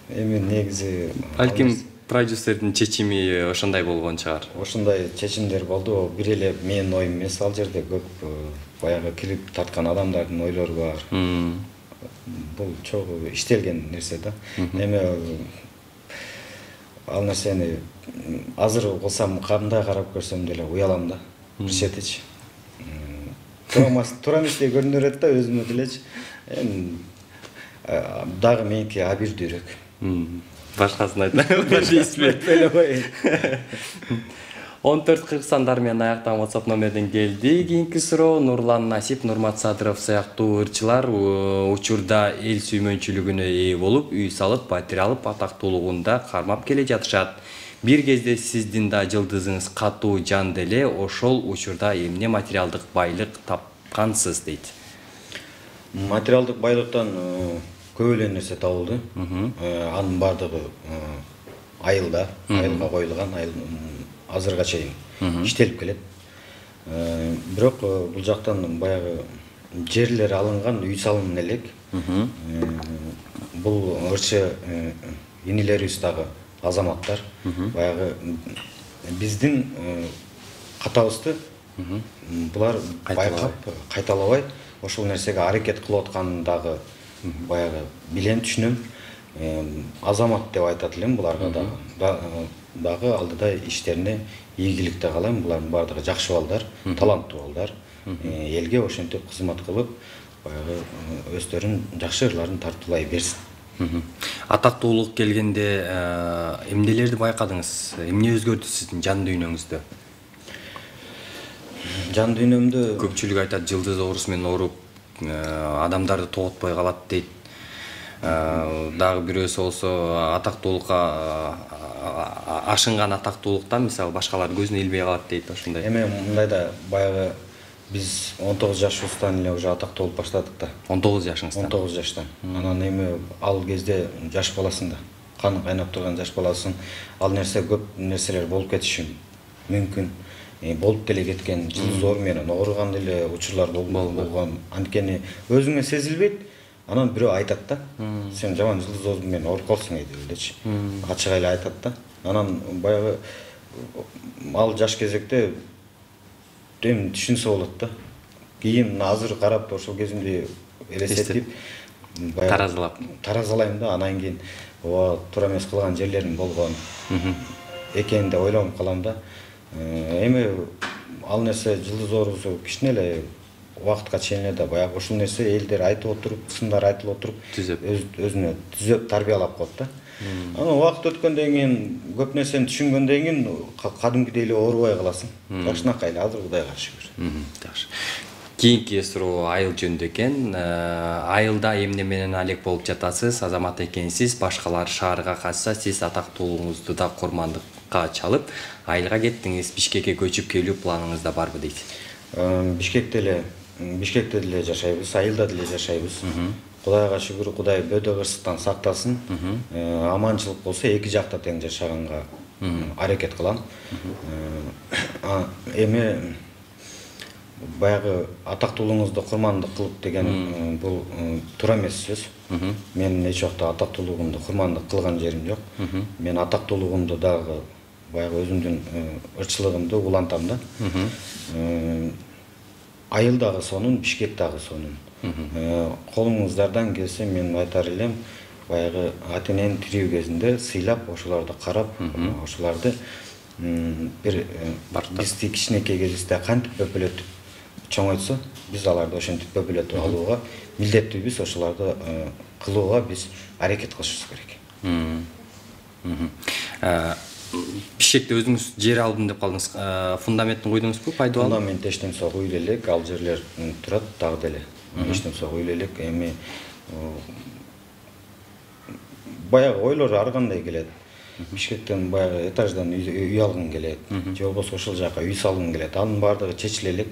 Эми негизи балким продюсердин чечими ошондой болгон чыгар. Ошондой чечимдер болду. Бир эле менин оюм эмес, ал жерде көп баягы кирип тарткан адамдардын ойлору бар. Бул чогуу иштелген нерсе да. Эми ал нерсени азыр кылсам кандай карап көрсөм деле уялам да. Бир четичи. Туура эместей көрүнө берет да өзүмө делечи. Эми дагы меники абийирдүүрөөк. Башкасын айтпай. он төрт кырк сандар менен аяктаган WhatsApp номерден келди. Кийинки суроо Нурлан Насип, Нурмат Садыров сыяктуу ырчылар учурда эл сүймөнчүлүгүнө ээ болуп, үй салып, патер алып, атактуулугунда кармап келе жатышат. Бир кезде сиздин да жылдызыңыз катуу жан деле, ошол учурда эмне материалдык байлык тапкансыз дейт. Материалдык байлыктан көп эле нерсе табылды. Анын бардыгы айылда, айылга коюлган, азырга чейин иштелип келет. Бирок бул жактан баягы жерлер алынган, үй салынган элек. Бул ырчы инилерибиз дагы азаматтар баягы биздин катабызды булар байкап, кайталабай ошол нерсеге аракет кылып атканын дагы баягы билем, түшүнөм. Азамат деп айтат элем буларга дагы. Дагы алдыда иштерине ийгиликте каалайм. Булардын бардыгы жакшы балдар, таланттуу балдар. Элге ошентип кызмат кылып, баягы өздөрүн жакшы ырларын тартуулай берсин. Атактуулук келгенде эмнелерди байкадыңыз? Эмне өзгөрдү сиздин жан дүйнөңүздө? Жан дүйнөмдө көпчүлүк айтат жылдыз оорусу менен ооруп, адамдарды тоготпой калат дейт. Дагы бирөөсү болсо атактуулукка ашынган атактуулуктан мисалы башкалар көзүнө илбей калат дейт ошондой. Эми мындай да баягы биз он тогуз жашыбыздан эле уже атактуу болуп баштадык да. он тогуз жашыңыздан. он тогуз жаштан. Анан эми ал кезде жаш баласың да. Каны кайнап турган жаш баласың. Ал нерсе көп нерселер болуп кетиши мүмкүн. Болуп деле кеткен, жылдыз оору менен ооруган деле учурлар болгон. Анткени өзүңө сезилбейт. Анан бирөө айтат да. Сен жаман жылдыз оору менен ооруп калсың дечи. Ачык эле айтат да. Анан баягы ал жаш кезекте эми түшүнсө болот да. Кийин азыр карап ошол кезимди элестетип таразалап таразалайм да. Анан кийин ооба туура эмес кылган жерлерим болгон экенин деп ойлонуп калам да. Эми ал нерсе жылдыз оорусу кичине эле убакытка чейин эле да баягы ошол нерсе элдер айтып отуруп, сындар айтылып отуруп, өзүнө түзөп тарбиялап коет да. Анан убакыт өткөндөн кийин көп нерсени түшүнгөндөн кийин кадимкидей эле оорубай каласың. Жакшынакай эле азыр Кудайга шүгүр. Жакшы. Кийинки суроо айыл жөнүндө экен. Айылда эмне менен алек болуп жатасыз? Азамат экенсиз, башкалар шаарга качса, сиз атактуулугуңузду да курмандыкка чалып, айылга кеттиңиз. Бишкекке көчүп келүү планыңызда барбы дейт? Бишкекте эле, Бишкекте деле жашайбыз, айылда деле жашайбыз. Кудайга шүгүр, Кудай бөдө кырсыктан сактасын. Аманчылык болсо эки жакта тең жашаганга аракет кылам. Эми баягы атактуулугуңузду курмандык кылып деген бул туура эмес сөз. Мен эч убакта атактуулугумду курмандык кылган жерим жок. Мен атактуулугумду дагы баягы өзүмдүн ырчылыгымды улантам да. Айыл дагы сонун, Бишкек дагы сонун. Колуңуздардан келсе мен айтар элем, баягы ата-энени тирүү кезинде сыйлап, ошолорду карап, ошолорду бир бизди кичинекей кезибизде кантип бөпөлөтүп чоңойтсо, биз аларды ошентип бөпөлөтүп алууга милдеттүүбүз, ошолорду кылууга биз аракет кылышыбыз керек. Бишкекте өзүңүз жер алдым деп калдыңыз. Фундаментин куйдуңузбу? Пайдалуу? Фундамент эчтен соо куюп элек, ал жерлер турат дагы деле. Эчтен соо куюп элек. Эми баягы ойлор ар кандай келет. Бишкектен баягы этаждан үй алгың келет, же болбосо ошол жака үй салгың келет. Анын баардыгы чечиле элек.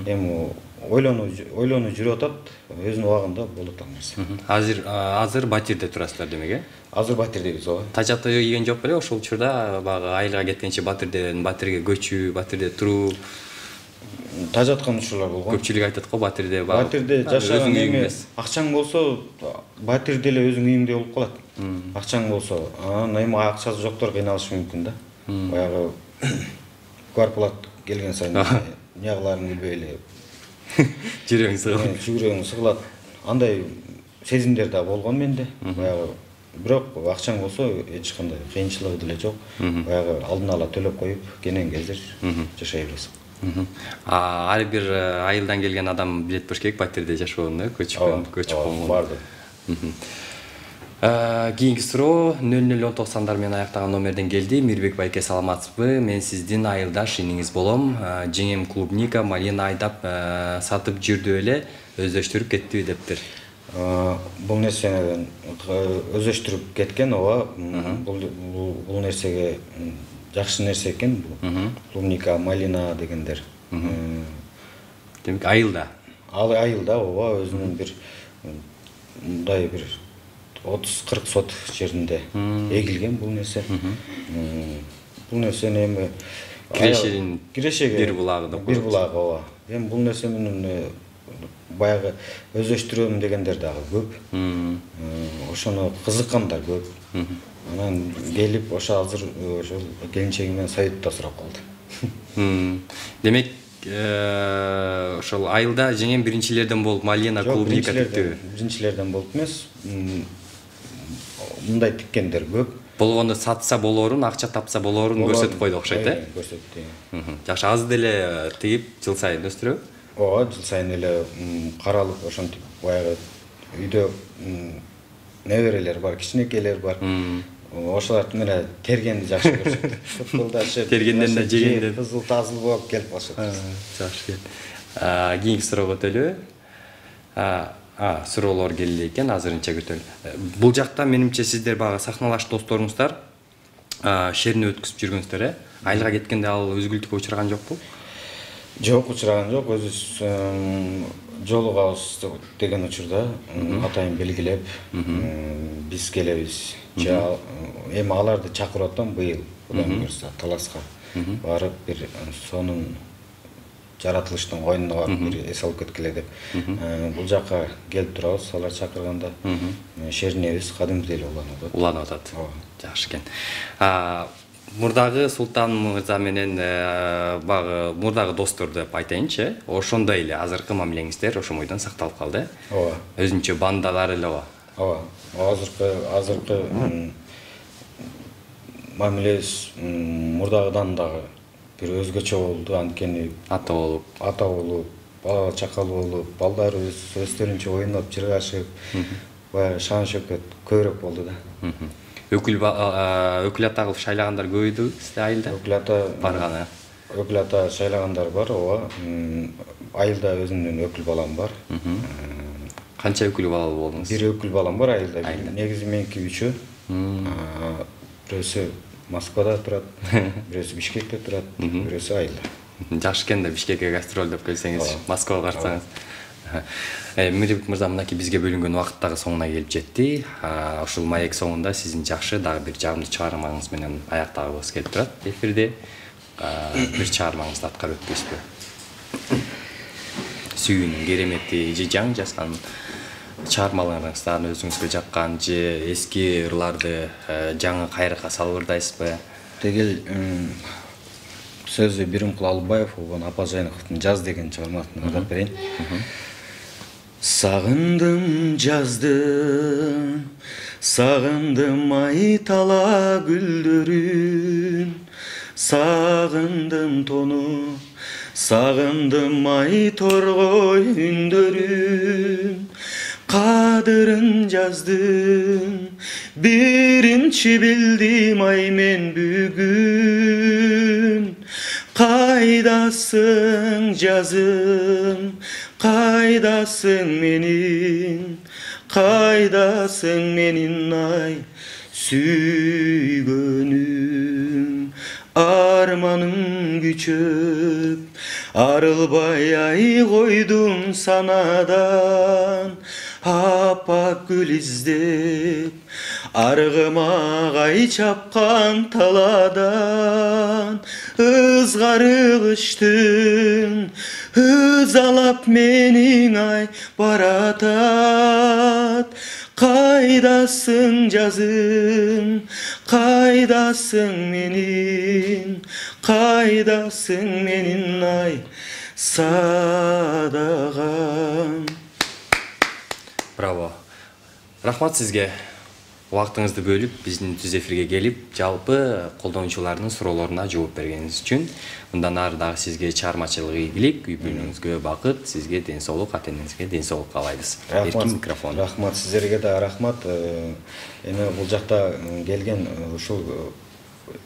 Эми ойлонуу ойлонуу жүрүп атат, өзүнүн убагында болот ал нерсе. Азыр азыр батирде турасыздар демек, э? Азыр батирдебиз, ооба. Тажаты ийген жок беле ошол учурда баягы айылга кеткенче батирден батирге көчүү, батирде туруу? тажаткан учурлар болгон. Көпчүлүк айтат го Батирде багып. Батирде жашаган эме акчаң болсо Батирде эле өзүң үйүңдөй болуп калат. Акчаң болсо, анан эми акчасы жоктор кыйналышы мүмкүн да. Баягы квартплат келген сайын нягыларың билбей эле жүрөгүң сыгылат. Жүрөгүң сыгылат. Андай сезимдер да болгон менде. Баягы бирок акчаң болсо эч кандай кыйынчылыгы деле жок. Баягы алдын ала төлөп коюп, кенен кезир жашай бересиң. Ар бир айылдан келген адам билет болуш керек Батирде жашоону, көчүп көчүп болгон. Барды. Кийинки суроо нөл нөл он токсондар менен аяктаган номерден келди. Мирбек байке, саламатсызбы? Мен сиздин айылдаш иниңиз болом. Жеңем клубника, малина айдап сатып жүрдү эле, өздөштүрүп кеттиби дептир. Бул нерсени өздөштүрүп кеткен, ооба. Бул нерсеге жакшы нерсе экен бул. Клубника, малина дегендер. Демек айылда. Ал айылда, ооба, өзүнүн бир мындай бир отуз кырк сот жеринде эгилген бул нерсе. Бул нерсени эми Кирешенин кирешеге бир булагы да. Бир булагы, ооба. Эми бул нерсе менен баягы өздөштүрөм дегендер дагы көп. Ошону кызыккандар көп. Анан келип ошо азыр ошол келинчеги менен советто сурап калды. Демек ошол айылда жеңем биринчилерден болуп малина клубника тиктиби? Биринчилерден болуп эмес. Мындай тиккендер көп. Болгондо сатса болоорун, акча тапса болоорун көрсөтүп койду окшойт, э? Көрсөттү. Жакшы, аз деле тигип жыл сайын өстүрөбү? Ооба, жыл сайын эле каралып ошентип баягы үйдө неберелер бар, кичинекейлер бар. Ошолар менен тергенди жакшы көрүшөт. Футболдашып, тергенден да жегенден кызыл тазыл болуп келип калышат. Жакшы. Кийинки суроого өтөлү. А, суроолор келди экен, азырынча күтөлү. Бул жакта менимче сиздер багы сахналаш досторуңуздар шерни өткүзүп жүргөнсүздөр, э? Айылга кеткенде ал үзгүлтүккө учураган жокпу? Жок, учураган жок. Өзүбүз жолугабыз деген учурда атайын белгилеп, биз келебиз. Эми аларды чакырып атам быйыл, Кудайым буйрса, Таласка барып бир сонун жаратылыштын койнуна барып бир эс алып кеткиле деп. Бул жака келип турабыз, алар чакырганда шернебиз кадимдей эле уланып атат. Уланып атат. Жакшы экен. Мурдагы Султан мырза менен багы мурдагы достор деп айтайынчы, ошондой эле азыркы мамилеңиздер ошомойдон сакталып калды. Ооба. Өзүнчө бандалар эле ооба. Ооба. Азыркы азыркы мамилебиз мурдагыдан дагы бир өзгөчө болду, анткени ата болуп, ата болуп, бала чакал болуп, балдарыбыз өздөрүнчө ойноп, жыргашып, баягы шан шөкөт көбүрөөк болду да. Өкүл өкүл ата кылып шайлагандар көбөйдү сизде айылда? Өкүл ата барганы. Өкүл ата шайлагандар бар, ооба. Айылда өзүмдүн өкүл балам бар. Канча өкүл балалуу болдуңуз? Бир өкүл балам бар айылда. Негизи меники үчөө. Бирөөсү Москвада турат, бирөөсү Бишкекте турат, бирөөсү айылда. Жакшы экен да Бишкекке гастролдоп келсеңиз, Москвага барсаңыз. Мирбек мырза, мынакей бизге бөлүнгөн убакыт дагы соңуна келип жетти. Ушул маек соңунда сиздин жакшы дагы бир жагымдуу чыгармаңыз менен аяктагыбыз келип турат. Эфирде бир чыгармаңызды аткарып өтпөйсүзбү? Сүйүүнүн керемети же жаңы жазган чыгармаларыңыздан өзүңүзгө жаккан же эски ырларды жаңы кайракка салып ырдайсызбы? Тегил сөзү Биримкул Албаев, Апажайновдун Жаз деген чыгармасын ырдап берейин. Сагындым жазды, сагындым айтала гүлдөрүн, сагындым тону, сагындым ай торгой үндөрүн, кадырын жаздым, биринчи билдим ай мен бүгүн. Кайдасың жазым, кайдасың менин, кайдасың менин ай сүйгөнүм. Арманым күчөп, арылбай ай койдум санадан, аппак гүл издеп, аргыма ай чапкан таладан. Ызгары кыштын, ызалап менин ай баратат. Кайдасың жазым, кайдасың менин, кайдасың менин ай садагам. Браво. Рахмат сизге. Убактыңызды бөлүп, биздин түз эфирге келип, жалпы колдонуучулардын суроолоруна жооп бергениңиз үчүн. Мындан ары дагы сизге чыгармачылык ийгилик, үй бүлөңүзгө бакыт, сизге ден соолук, ата-энеңизге ден соолук каалайбыз. Эркин микрофон. Рахмат сиздерге да рахмат. Эми бул жакта келген ушул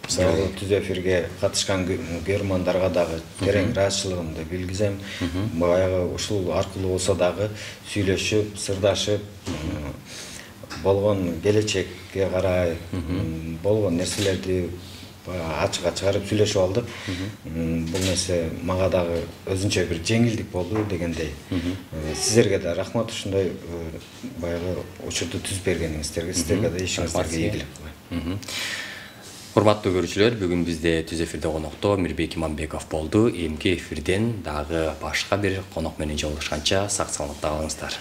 түз эфирге катышкан көрөрмандарга дагы терең ыраазычылыгымды билгизем. Баягы ушул аркылуу болсо дагы сүйлөшүп, сырдашып, болгон келечекке карай болгон нерселерди ачыкка чыгарып сүйлөшүп алдык. Бул нерсе мага дагы өзүнчө бир жеңилдик болду дегендей. Сиздерге да рахмат, ушундай баягы учурду түзүп бергениңиздерге, сиздерге да ишиңиздерге ийгилик. Урматтуу көрүүчүлөр, бүгүн бизде түз эфирде конокто Мирбек Иманбеков болду. Эмки эфирден дагы башка бир конок менен жолугушканча сак саламатта калыңыздар.